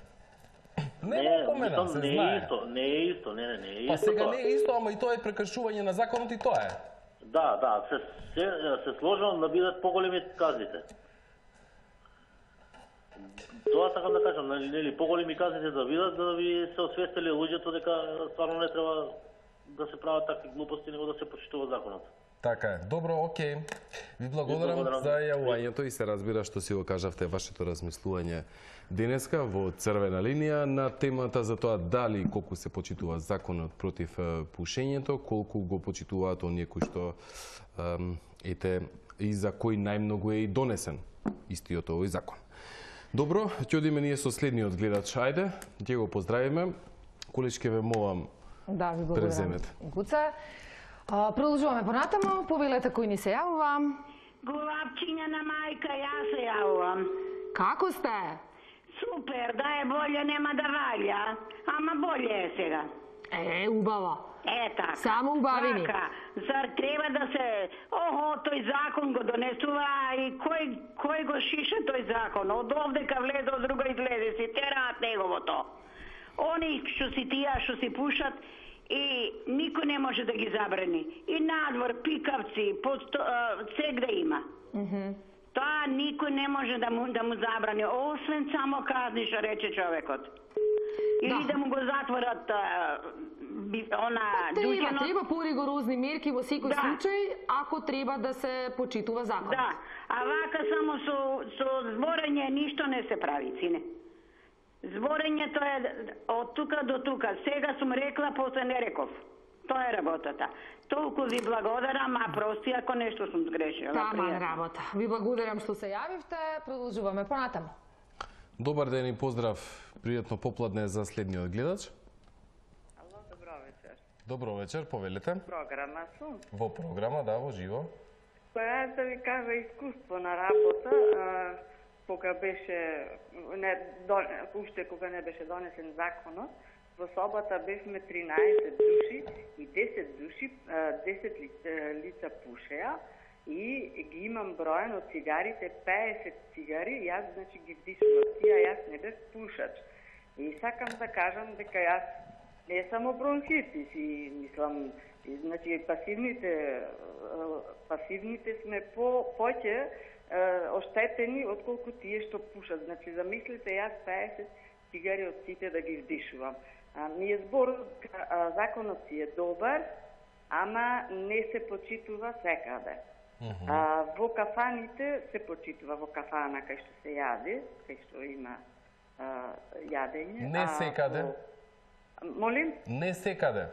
Нема опомена, мислам, се не е знае. исто, не е исто, не, не, не е Па исто сега тоа. не е исто, ама и тоа е прекршување на законот и тоа е. Да, да, се, се, се сложувам да бидат поголеми казните. Тоа сакам да кажам, нели, нели поголеми казните да бидат, да ви се освестили луѓето дека стварно не треба да се прават такви глупости, него да се почитува законот. Така е. Добро, окей. Ви благодарам, благодарам. за јавувањето и се разбира што си го кажавте вашето размислување денеска во црвена линија на темата за тоа дали колку се почитува законот против е, пушењето, колку го почитуваат оние кои што ем, ете и за кои најмногу е и донесен истиот овој закон. Добро, ќе одиме ние со следниот гледач. Ајде, ќе го поздравиме. Количке ве молам, Да, ви благодарам. преземете. Гуце. А, продолжуваме понатаму. Повелете кој ни се јавува. Голапчиња на мајка, јас се јавувам. Како сте? Супер, да е болje нема да валја, ама болje е сега. Е, убава. Е, така. Само убавини. Така, зар треба да се... Охо, тој закон го донесува и кој, кој го шиша тој закон? Од овдека влезе, од друга излезе, си тераат неговото. Они што си тија, што си пушат, и никој не може да ги забрани. И надвор, пикавци, сегде има. Тоа никој не може да му, да му забрани, освен само казни, што рече човекот. Или да, да му го затворат а, би, она Треба, дуќанот. треба поригорозни мерки во секој Да. случај, ако треба да се почитува законот. Да, а вака само со, со зборење ништо не се прави, сине. Зборењето е од тука до тука. Сега сум рекла, после не реков. Тоа е работата. Толку ви благодарам, а прости ако нешто сум сгрешила. Таман Пријатно. работа. Ви благодарам што се јавивте. Продолжуваме понатаму. Добар ден и поздрав. Пријатно попладне за следниот гледач. Ало, добро вечер. Добро вечер, повелете. Програма сум. Во програма, да, во живо. Па јас да ви кажа искуство на работа, а, кога беше, не, до, уште кога не беше донесен законот, во собата бевме тринаесет души и десет души, а, десет ли, лица пушеа и ги имам броен од цигарите, петдесет цигари, јас значи ги вдишувам, тија јас не бев пушач. И сакам да кажам дека јас не само бронхитис и мислам, и, значи пасивните пасивните сме по поќе оштетени отколку тие што пушат. Значи замислите јас петдесет цигари од сите да ги вдишувам. А, ми е збор, а, законот си е добар, ама не се почитува секаде. А, во кафаните се почитува, во кафана кај што се јаде, кај што има а, јадење. Не а секаде. во- Молим? Не секаде.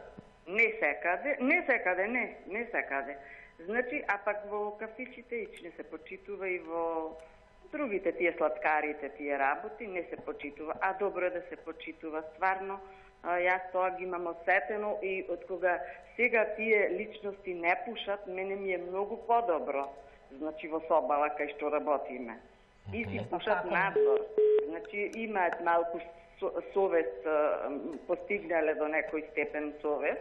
Не секаде, не секаде, не, не секаде. Значи, а пак во кафичите ич не се почитува и во другите тие сладкарите, тие работи не се почитува, а добро е да се почитува стварно. А, јас тоа ги имам осетено и од кога сега тие личности не пушат, мене ми е многу подобро. Значи во собала кај што работиме. И си пушат надвор. Значи имаат малку со- совест, а, постигнале до некој степен совест.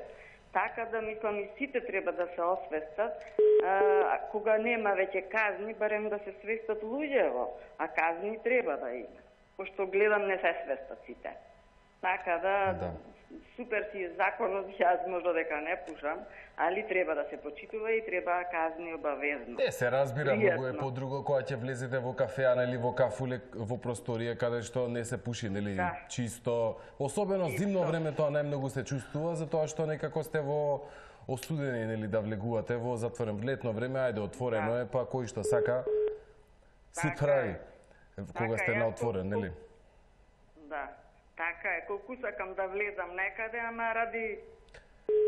Така да мислам и сите треба да се освестат, а, кога нема веќе казни, барем да се свестат луѓево, а казни треба да има. Пошто гледам не се свестат сите. Така да, да. Супер си законот, јас можда дека не пушам, али треба да се почитува и треба казни обавезно. Е, се разбира, многу е подруго кога ќе влезете во кафеа, нели, во кафуле, во просторија каде што не се пуши, нели, да. Чисто. Особено чисто. Зимно време тоа најмногу се чувствува, затоа што некако сте во осудени, нели, да влегувате во затворен. Летно време, ајде, отворено да. Е, па кој што сака, си така прави, кога така сте на отворен, нели? Да. Така е, колку сакам да влезам некаде, ама ради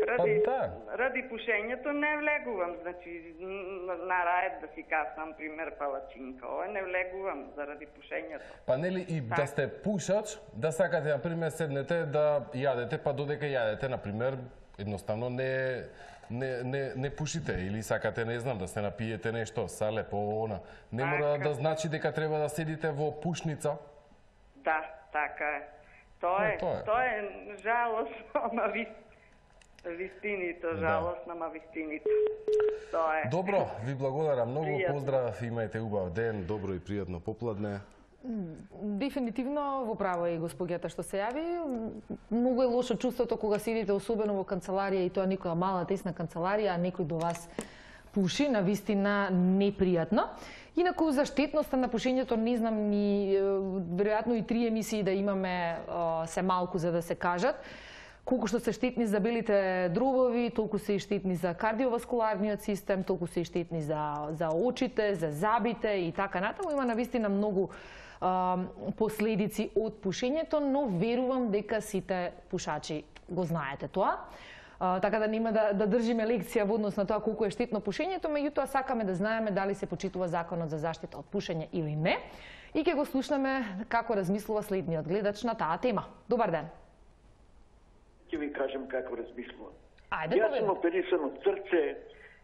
ради, па, да. ради пушењето не влегувам, значи на раед да си каснам, пример, палачинка, ова не влегувам заради пушењето. Па нели и так. Да сте пушач, да сакате, например, седнете да јадете, па додека јадете, например, едноставно не не не не пушите или сакате, не знам, да се напиете нешто, сале по она. Не така. Мора да значи дека треба да седите во пушница. Да, така е. Тоа е, тоа е, тоа е жалосно, ама ви, вистинито, жалосно, ама вистинито. Тоа е. Добро, ви благодарам многу, пријатно. Поздрав, имајте убав ден, добро и пријатно попладне. Дефинитивно во право е и госпоѓата што се јави. Многу е лошо чувството кога седите особено во канцеларија и тоа некоја мала тесна канцеларија, а некој до вас пуши, на вистина непријатно. Инаку за штетноста на пушењето не знам ни веројатно и три емисии да имаме се малку за да се кажат. Колку што се штетни за белите дробови, толку се и штетни за кардиоваскуларниот систем, толку се и штетни за за очите, за забите и така натаму. Има навистина многу а, последици од пушењето, но верувам дека сите пушачи го знаете тоа. Uh, така да нема да, да држиме лекција во однос на тоа колку е штетно пушењето, меѓутоа сакаме да знаеме дали се почитува законот за заштита од пушење или не. И ќе го слушнеме како размислува следниот гледач на таа тема. Добар ден. Ќе ви кажам како размислувам. Ајде, јас сум оперисан од срце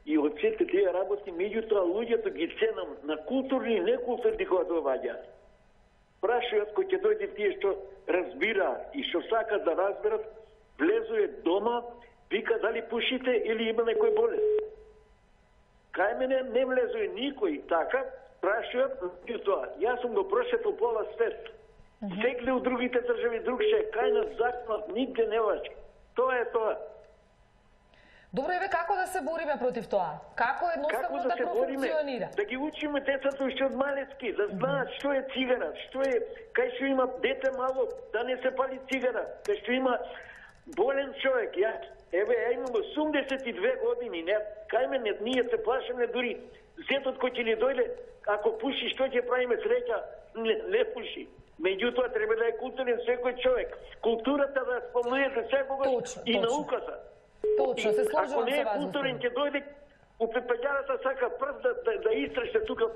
и од сите тие работи, меѓутоа луѓето ги ценам на културни и некултурни кога доаѓаат. Прашаат кој ќе дојде тие што разбираат и што сакат да разберат, влезуе дома, вика дали пушите или има некој болест. Кај мене не влезуе никој така, прашаат тоа. Јас сум го прошетал пола свет. Секле у другите држави другше, кај нас законот нигде не важи. Тоа е тоа. Добро, еве како да се бориме против тоа? Како едноставно да, да профункционира? Да ги учиме децата уште од малецки, да знаат што е цигара, што е, кај што има дете мало, да не се пали цигара, кај што има болен човек. Јас Еве, ја имам осумдесет и две години, не, кај мене, ние се плашаме дури зетот кој ќе ни дојде, ако пуши, што ќе правиме среќа, не, не пуши. Меѓутоа, треба да е културен секој човек. Културата да спомнете секогаш и точно. Науката. Точно, се сложувам ако не е културен, ќе дојде у пепељарата сака прв да, да, да истраше тука,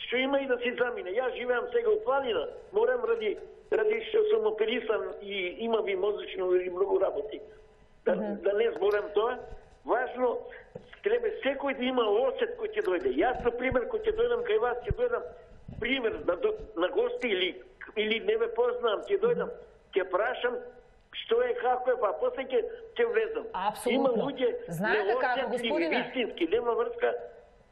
што има и да си замине. Јас живеам сега у планина, морам ради, ради што сум оперисан и имам и мозично и многу работи. Да, mm-hmm. да не зборам тоа, важно треба секој да има осет кој ќе дојде. Јас, например, кој ќе дојдам кај вас, ќе дојдам пример на, на гости или или не ме познавам, ќе дојдам, ќе прашам што е, како е, па после ќе ќе влезам. Апсолутно. Има луѓе неосетливи, вистински, нема врска.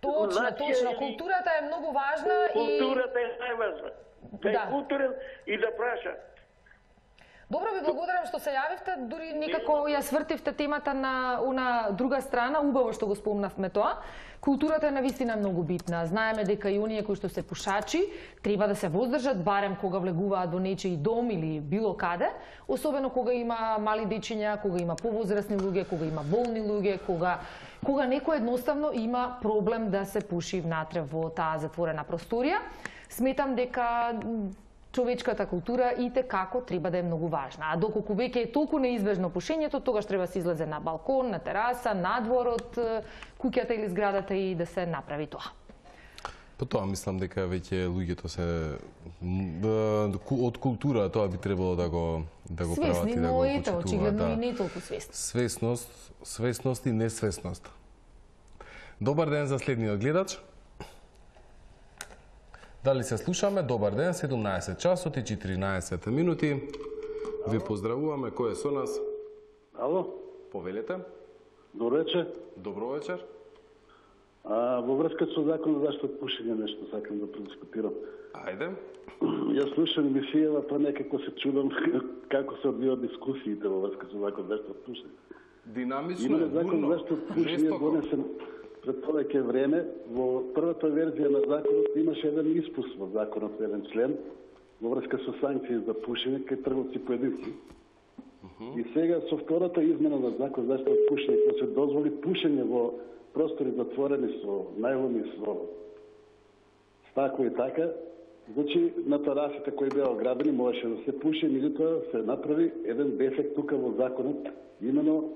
Точно, точно. Културата е многу важна и културата е најважна. Да, да е културен и да праша. Добро, ви благодарам што се јавивте, дури некако ја свртивте темата на она друга страна, убаво што го спомнавме тоа. Културата е навистина многу битна. Знаеме дека и оние кои што се пушачи треба да се воздржат барем кога влегуваат во нечиј дом или било каде, особено кога има мали дечиња, кога има повозрасни луѓе, кога има болни луѓе, кога кога некој едноставно има проблем да се пуши внатре во таа затворена просторија. Сметам дека човечката култура и те како треба да е многу важна. А доколку веќе е толку неизбежно пушењето, тогаш треба се излезе на балкон, на тераса, надвор од куќата или зградата и да се направи тоа. По тоа мислам дека веќе луѓето се од култура тоа би требало да го да го прават и да го почитуваат. Свесни, но ето, очигледно и не толку свесни. Свесност, свесност и несвесност. Добар ден за следниот гледач. Дали се слушаме? Добар ден, седумнаесет часот и четиринаесет минути. Ви поздравуваме. Кој е со нас? Ало? Повелете. Добро вечер. Добро вечер. А во врска со законот за заштита од пушење нешто сакам да предискутирам. Ајде. Јас слушам емисијава, па некако се чудам како се одвијаат дискусиите во врска со законот за заштита од пушење. Динамично е, закон за заштита од пушење донесен пред повеќе време. Во првата верзија на законот имаше еден испуст во законот, еден член во врска со санкции за пушење кај трговци поединци. И сега со втората измена на закон за заштита од пушење, кога се дозволи пушење во простори затворени со најломи, со стакло и така, значи на терасите кои беа оградени можеше да се пуши, меѓутоа се направи еден дефект тука во законот. Имено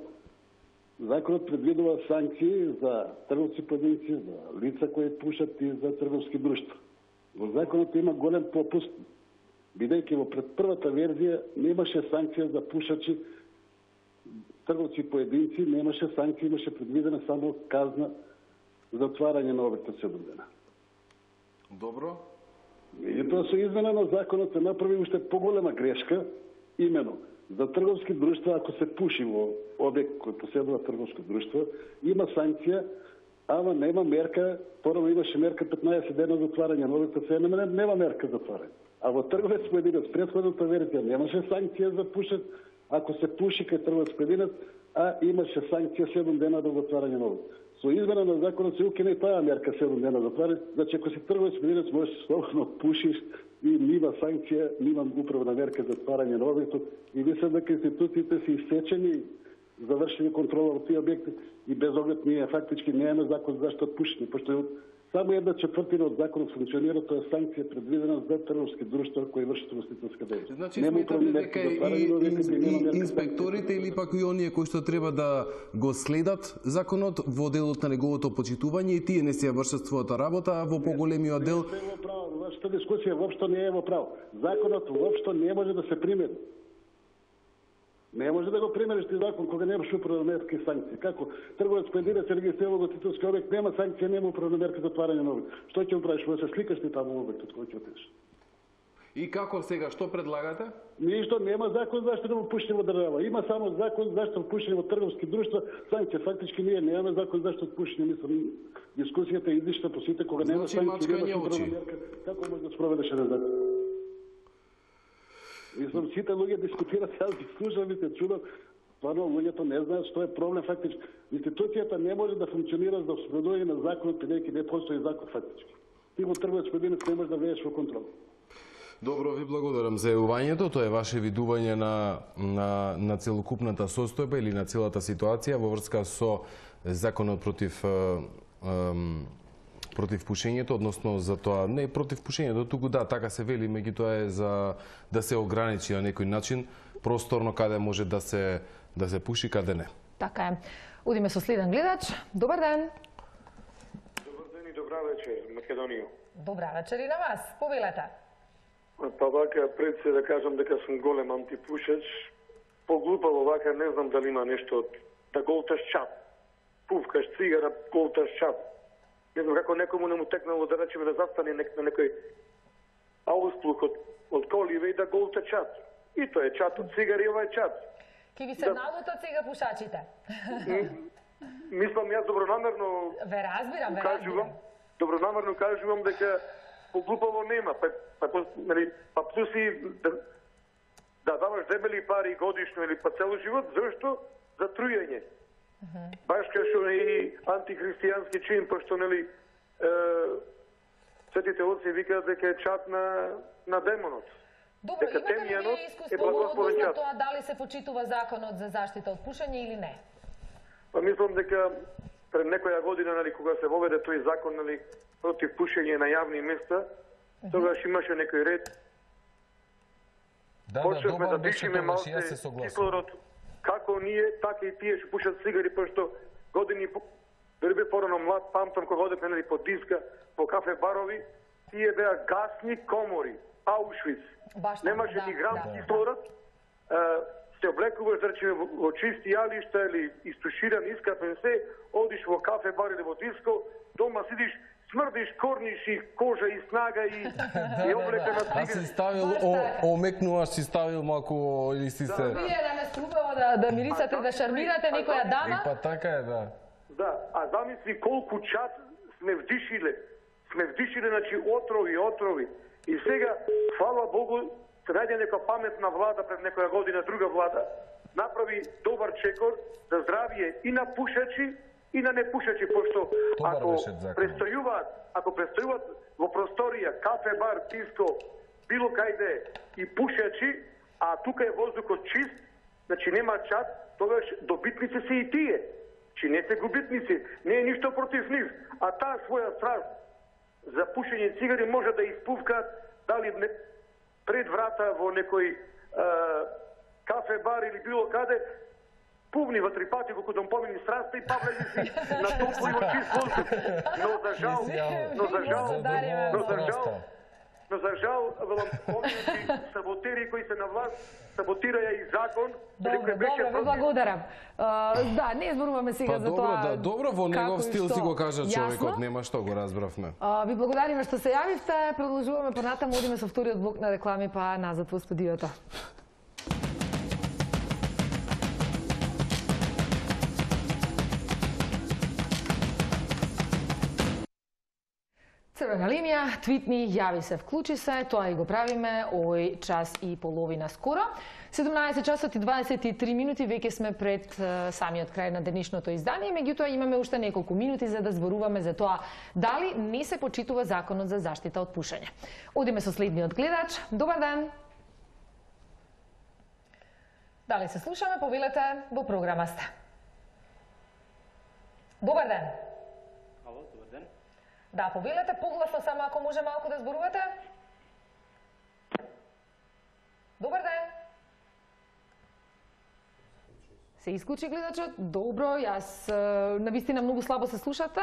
законот предвидува санкции за трговци поединци, за лица кои пушат и за трговски друштва. Во законот има голем пропуст, бидејќи во пред првата верзија немаше санкција за пушачи, трговци поединци, немаше санкција, имаше предвидена само казна затварање на обектот седум дена. Добро. И тоа со измена на законот се направи уште поголема грешка, имено за трговски друштва, ако се пуши во обект кој поседува трговско друштво, има санкција, ама нема мерка, порано имаше мерка петнаесет дена затварање на обектот, се нема, нема мерка затварање. А во трговец поединец, претходната верзија немаше санкција за пушат, ако се пуши кај трговец поединец, а имаше санкција седум дена до затварање на обект. Со измена на законот се укине таа мерка седум дена затварање, значи ако си трговец поединец можеш слободно пушиш и нива санкција, нива управна мерка за затварање на обектот, и мислам дека институциите се исечени, завршени контрола во тие обекти и без оглед ние фактички немаме закон за заштита од пушење, пошто само една четвртина од законот функционира, тоа е санкција предвидена за трговски друштва кои вршат ugostителска дејност. Значи сметате дека и, и, и инспекторите или пак и оние кои што треба да го следат законот во делот на неговото почитување и тие не си ја вршат својата работа, а во поголемиот дел Вашата дискусија воопшто не е во право. Законот воопшто не може да се примени. Не може да го примериш ти закон кога немаш управна мерка и санкции. Како трговец поединец се регистрира во ugostителски обект, нема санкција, нема управна мерка за затварање на обект. Што ќе му правиш? Може да се сликаш ти таму во обектот кој ќе отидеш. И како сега, што предлагате? Ништо, нема закон за заштита од пушење во држава. Има само закон за заштита од пушење во трговски друштва, санкција. Фактички ние немаме закон за заштита од пушење, мислам, дискусијата е излишна по сите кога нема санкција, нема управна мерка. Како може да спроведеш еден закон? Мислам, сите луѓе дискутират, јас ги слушам и се чудам, стварно луѓето не знаат што е проблем фактички. Институцијата не може да функционира за спроведување на законот, бидејќи не постои закон фактички. Ти го трговец поединец не можеш да влезеш во контрол. Добро, ви благодарам за јавувањето. Тоа е ваше видување на, на, на целокупната состојба или на целата ситуација во врска со законот против ем, против пушењето, односно за тоа, не против пушењето, туку да, така се вели, меѓутоа е за да се ограничи на некој начин просторно каде може да се да се пуши, каде не. Така е. Одиме со следен гледач. Добар ден. Добар ден и добра вечер, Македонија. Добра вечер и на вас. Повелете. Па вака, пред се да кажам дека сум голем антипушач, поглупаво вака, не знам дали има нешто од да голташ чап. Пувкаш цигара, голташ чап. Не знам како некому не му текнало да речеме да застане на некој аусплук од, од коливе и да голта чат. И тоа е чат од цигари, ова е чат. Ки ви се да... налутат сега пушачите? Мислам, јас добронамерно ве разбирам, ве кажувам, разбирам. Добронамерно кажувам дека поглупаво нема. Па, па, нали, па плюс и да, да даваш дебели пари годишно или па цело живот, зашто? За трујање. Uh-huh. Баш кај што и антихристијански чин, пошто нели е, светите отци викаат дека е чат на, на демонот. Добро, дека имате ли вие искуство односно тоа дали се почитува законот за заштита од пушење или не? Па мислам дека пред некоја година, нали, кога се воведе тој закон, нали, против пушење на јавни места, uh-huh. тогаш имаше некој ред. Да, почнавме да, да дишиме малце кислород, како ние, така и тие што пушат цигари, пошто години дори бе порано млад, памтам кога одевме нели по диска, по кафе барови, тие беа гасни комори, Аушвиц. Немаше да, ни грам да, кислород. Да. Се облекуваш, да речеме, во чисти јалишта или истуширан, искапен се, одиш во кафе бар или во диско, дома сидиш, смрдиш, корниш и кожа и снага и, и облека на цигари. А си ставил, о, омекнуваш, си ставил малку или си се... Вие да ме струбава да, да мирисате, да шармирате некоја дама? И па така е, да. Да, а замисли колку чат сме вдишиле, сме вдишиле, значи, отрови, отрови. И сега, фала Богу, се најде нека паметна влада пред некоја година, друга влада, направи добар чекор за здравие и на пушачи, и на непушачи, пошто ако престојуваат, ако престојуваат во просторија, кафе, бар, диско, било кајде и пушачи, а тука е воздухот чист, значи нема чат, тогаш добитници се и тие. Чи не се губитници, не е ништо против нив, а таа своја страст за пушење цигари може да испувкаат дали не, пред врата во некој е, кафе, бар или било каде, пувни во три пати колку да помени страста и па влези си на топло и во чист воздух. Но за жал, но за жал, но за жал, но за жал, овие саботери кои се на власт саботираја и закон. Добро, добро, ви благодарам. Uh, да, не зборуваме сега па, за добро, тоа. Да, добро, во негов стил што... си го кажа човекот, Јасно? нема што, го разбравме. Uh, ви благодариме што се јавивте, продолжуваме понатаму, одиме со вториот блок на реклами, па назад во студиото. Црвена линија, твитни, јави се, вклучи се, тоа и го правиме овој час и половина скоро. седумнаесет часот и дваесет и три минути, веќе сме пред uh, самиот крај на денешното издание, меѓутоа имаме уште неколку минути за да зборуваме за тоа дали не се почитува законот за заштита од пушење. Одиме со следниот гледач. Добар ден! Дали се слушаме, повелете, во програма сте. Добар ден! Ало, добар ден. Да, повелете, погласно само ако може малку да зборувате. Добар ден! Се исклучи гледачот. Добро, јас навистина многу слабо се слушате,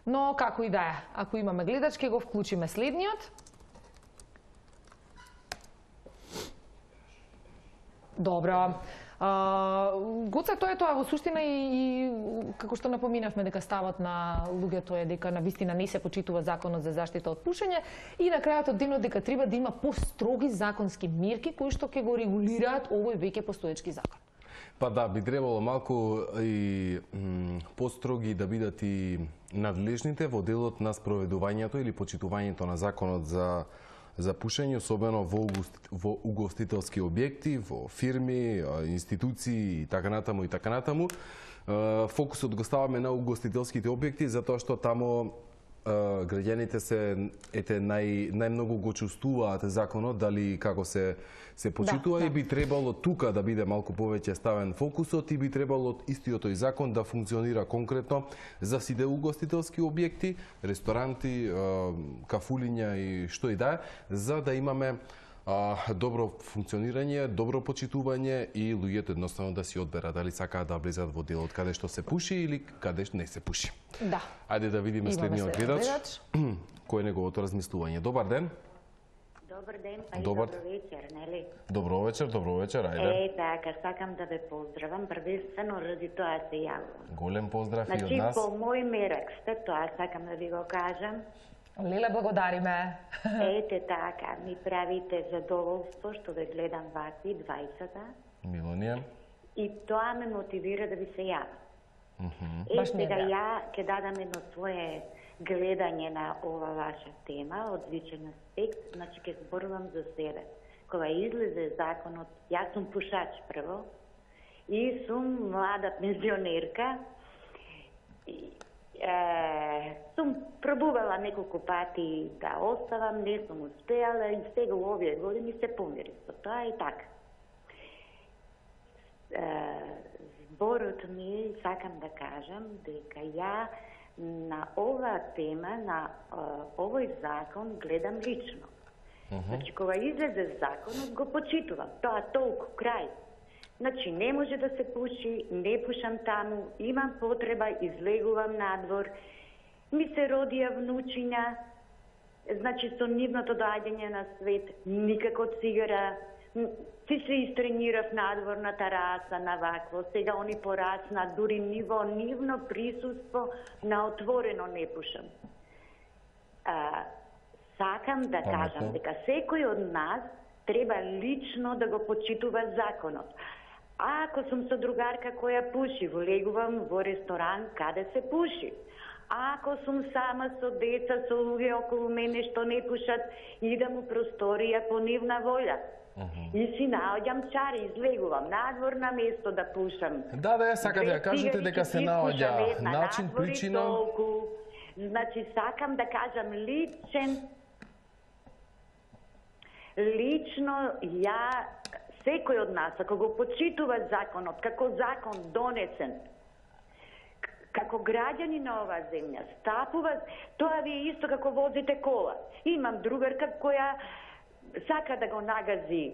но како и да е. Ако имаме гледач, ќе го вклучиме следниот. Добро. Uh, Гоце, тоа е тоа во суштина и, и како што напоминавме дека ставот на луѓето е дека навистина не се почитува законот за заштита од пушење и на крајот од денот дека треба да има построги законски мерки кои што ќе го регулираат овој веќе постоечки закон. Па да, би требало малку и построги да бидат и надлежните во делот на спроведувањето или почитувањето на законот за за пушење, особено во, во угостителски објекти, во фирми, институции и така натаму и така натаму. Фокусот го ставаме на угостителските објекти затоа што таму граѓаните се ете нај најмногу го чувствуваат законот дали како се се почитува да, и би требало тука да биде малку повеќе ставен фокусот и би требало истиот тој закон да функционира конкретно за сите угостителски објекти, ресторанти, кафулиња и што и да е, за да имаме а, добро функционирање, добро почитување и луѓето едноставно да си одберат дали сакаат да влезат во делот каде што се пуши или каде што не се пуши. Да. Ајде да видиме следниот гледач. Кој е неговото размислување? Добар ден. Добар ден, па Добар. и добро вечер, нели? Добро вечер, добро вечер, ајде. Е, така, сакам да ве поздравам, првенствено ради тоа се јавувам. Голем поздрав значи, и од нас. Значи, по мој мерак сте, тоа сакам да ви го кажам. Леле, благодариме. Ете така, ми правите задоволство што ве гледам вакви двајцата. Мило ни е. И тоа ме мотивира да ви се јавам. Mm -hmm. Е, сега ја ќе дадам едно свое гледање на ова ваша тема, од личен аспект, значи ќе зборувам за себе. Кога излезе законот, јас сум пушач прво и сум млада пензионерка. И, е, сум пробувала неколку пати да оставам, не сум успеала и сега у овие години се помири со тоа и така. Е, зборот ми, сакам да кажам, дека ја на оваа тема, на uh, овој закон гледам лично. Uh -huh. Значи, кога излезе законот, го почитувам. Тоа толку, крај. Значи, не може да се пуши, не пушам таму, имам потреба, излегувам надвор, ми се родија внучиња, значи, со нивното доаѓање на свет, никако цигара, си се истренирав надвор на тараса, на вакво, сега они порасна, дури ниво, нивно присуство на отворено не пушам. А, сакам да Паметно. кажам дека секој од нас треба лично да го почитува законот. А ако сум со другарка која пуши, влегувам во ресторан каде се пуши. Ако сум сама со деца, со луѓе околу мене што не пушат, идам у просторија по нивна волја. И си наоѓам чари, излегувам надвор на место да пушам. Да, да, сакате да кажете дека се наоѓа начин, причина. Значи, сакам да кажам личен, лично ја, секој од нас, ако го почитува законот, како закон донесен, како граѓани на оваа земја, стапува, тоа ви е исто како возите кола. Имам другарка која сака да го нагази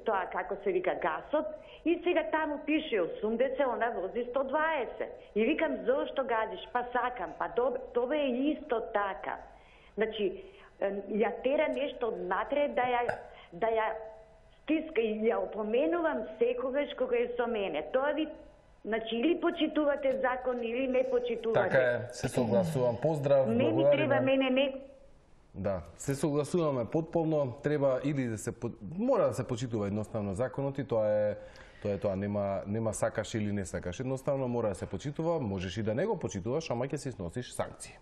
тоа како се вика гасот и сега таму пише осумдесет, она вози сто дваесет. И викам зошто газиш? Па сакам, па тоа е исто така. Значи, ја тера нешто однатре да ја да ја стиска и ја опоменувам секогаш кога е со мене. Тоа ви, значи, или почитувате закон, или не почитувате. Така е, се согласувам. Поздрав, не ми треба мене не... Да, се согласуваме потполно, треба или да се мора да се почитува едноставно законот и тоа е тоа е тоа, нема нема сакаш или не сакаш. Едноставно мора да се почитува, можеш и да не го почитуваш, ама ќе си сносиш санкции.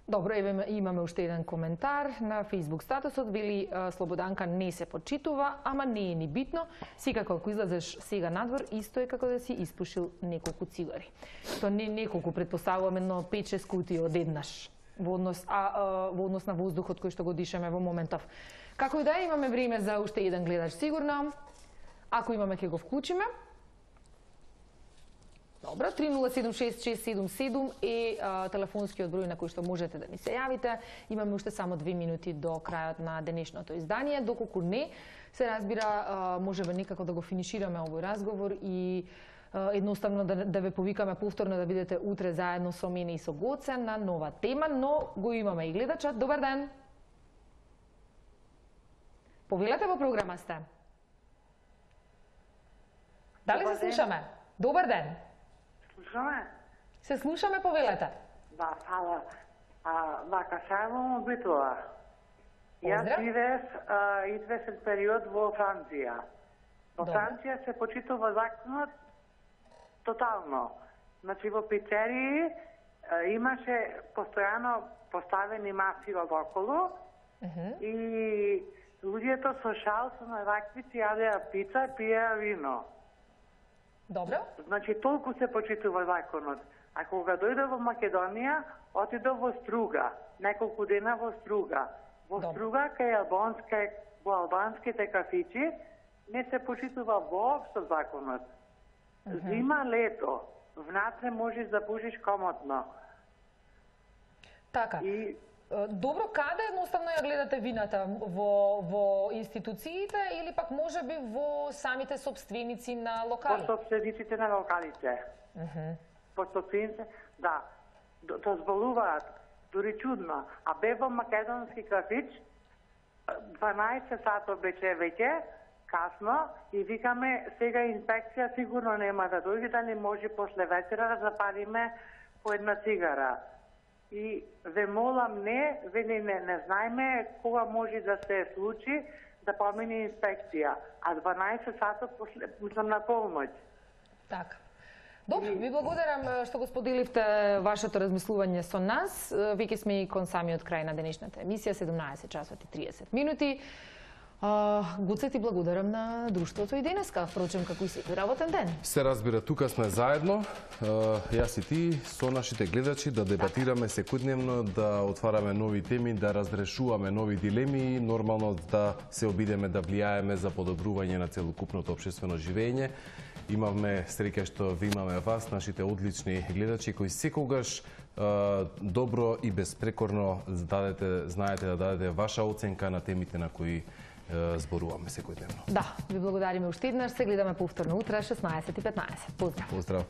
Добро, еве имаме уште еден коментар на Facebook статусот, вели Слободанка не се почитува, ама не е ни битно. Секако ако излезеш сега надвор, исто е како да си испушил неколку цигари. Тоа не неколку, претпоставуваме, но пет-шест кутии одеднаш во однос а, а во однос на воздухот кој што го дишаме во моментов. Како и да е, имаме време за уште еден гледач сигурно. Ако имаме ќе го вклучиме. Добро, три нула седум шест шест седум седум е а, телефонскиот број на кој што можете да ни се јавите. Имаме уште само две минути до крајот на денешното издание. Доколку не, се разбира, а, можеме некако да го финишираме овој разговор и а, едноставно да, да ве повикаме повторно да бидете утре заедно со мене и со Гоце на нова тема, но го имаме и гледачат. Добар ден! Повелете во програма сте. Дали се слушаме? Добар ден! Слушаме? Се слушаме, повелете. Да, фала. А, вака, само битува. Јас живеев известен период во Франција. Во Франција се почитува законот тотално. Значи, во пицерии имаше постојано поставени маси околу и луѓето со шал, со наваквици, јадеа пица, пиеа вино. Добро. Значи, толку се почитува законот. А кога дојде во Македонија, отидов во Струга, неколку дена во Струга. Во Добро. Струга, кај албанска, во албанските кафичи, не се почитува воопшто законот. Uh -huh. Зима, лето, внатре можеш да пушиш комотно. Така. И... Добро, каде едноставно ја гледате вината? Во, во институциите или пак може би во самите собственици на локали? Во собствениците на локалите. Uh -huh. Во собствениците, да. Дозволуваат, дури чудно. А бе во македонски кафич, дванаесет сатот беше веќе, касно, и викаме, сега инспекција сигурно нема да дојде, да не може после вечера да запалиме по една цигара. И ве молам не, ве не, не, не знаеме кога може да се случи да помине инспекција, а дванаесет сатот после, мислам на полноќ. Така. Добро, ви благодарам што го споделивте вашето размислување со нас. Веќе сме и кон самиот крај на денешната емисија, седумнаесет часот и триесет минути. Гоце, ти благодарам на друштвото и денеска, впрочем, како и секој работен ден. Се разбира, тука сме заедно, јас и ти, со нашите гледачи, да дебатираме секојдневно, да отвараме нови теми, да разрешуваме нови дилеми и нормално да се обидеме да влијаеме за подобрување на целокупното општествено живење. Имавме среќа што ви имаме вас, нашите одлични гледачи, кои секогаш добро и безпрекорно дадете, знаете да дадете ваша оценка на темите на кои зборуваме секојдневно. Да, ви благодариме уште еднаш. Се гледаме повторно утре шеснаесет и петнаесет. Поздрав. Поздрав.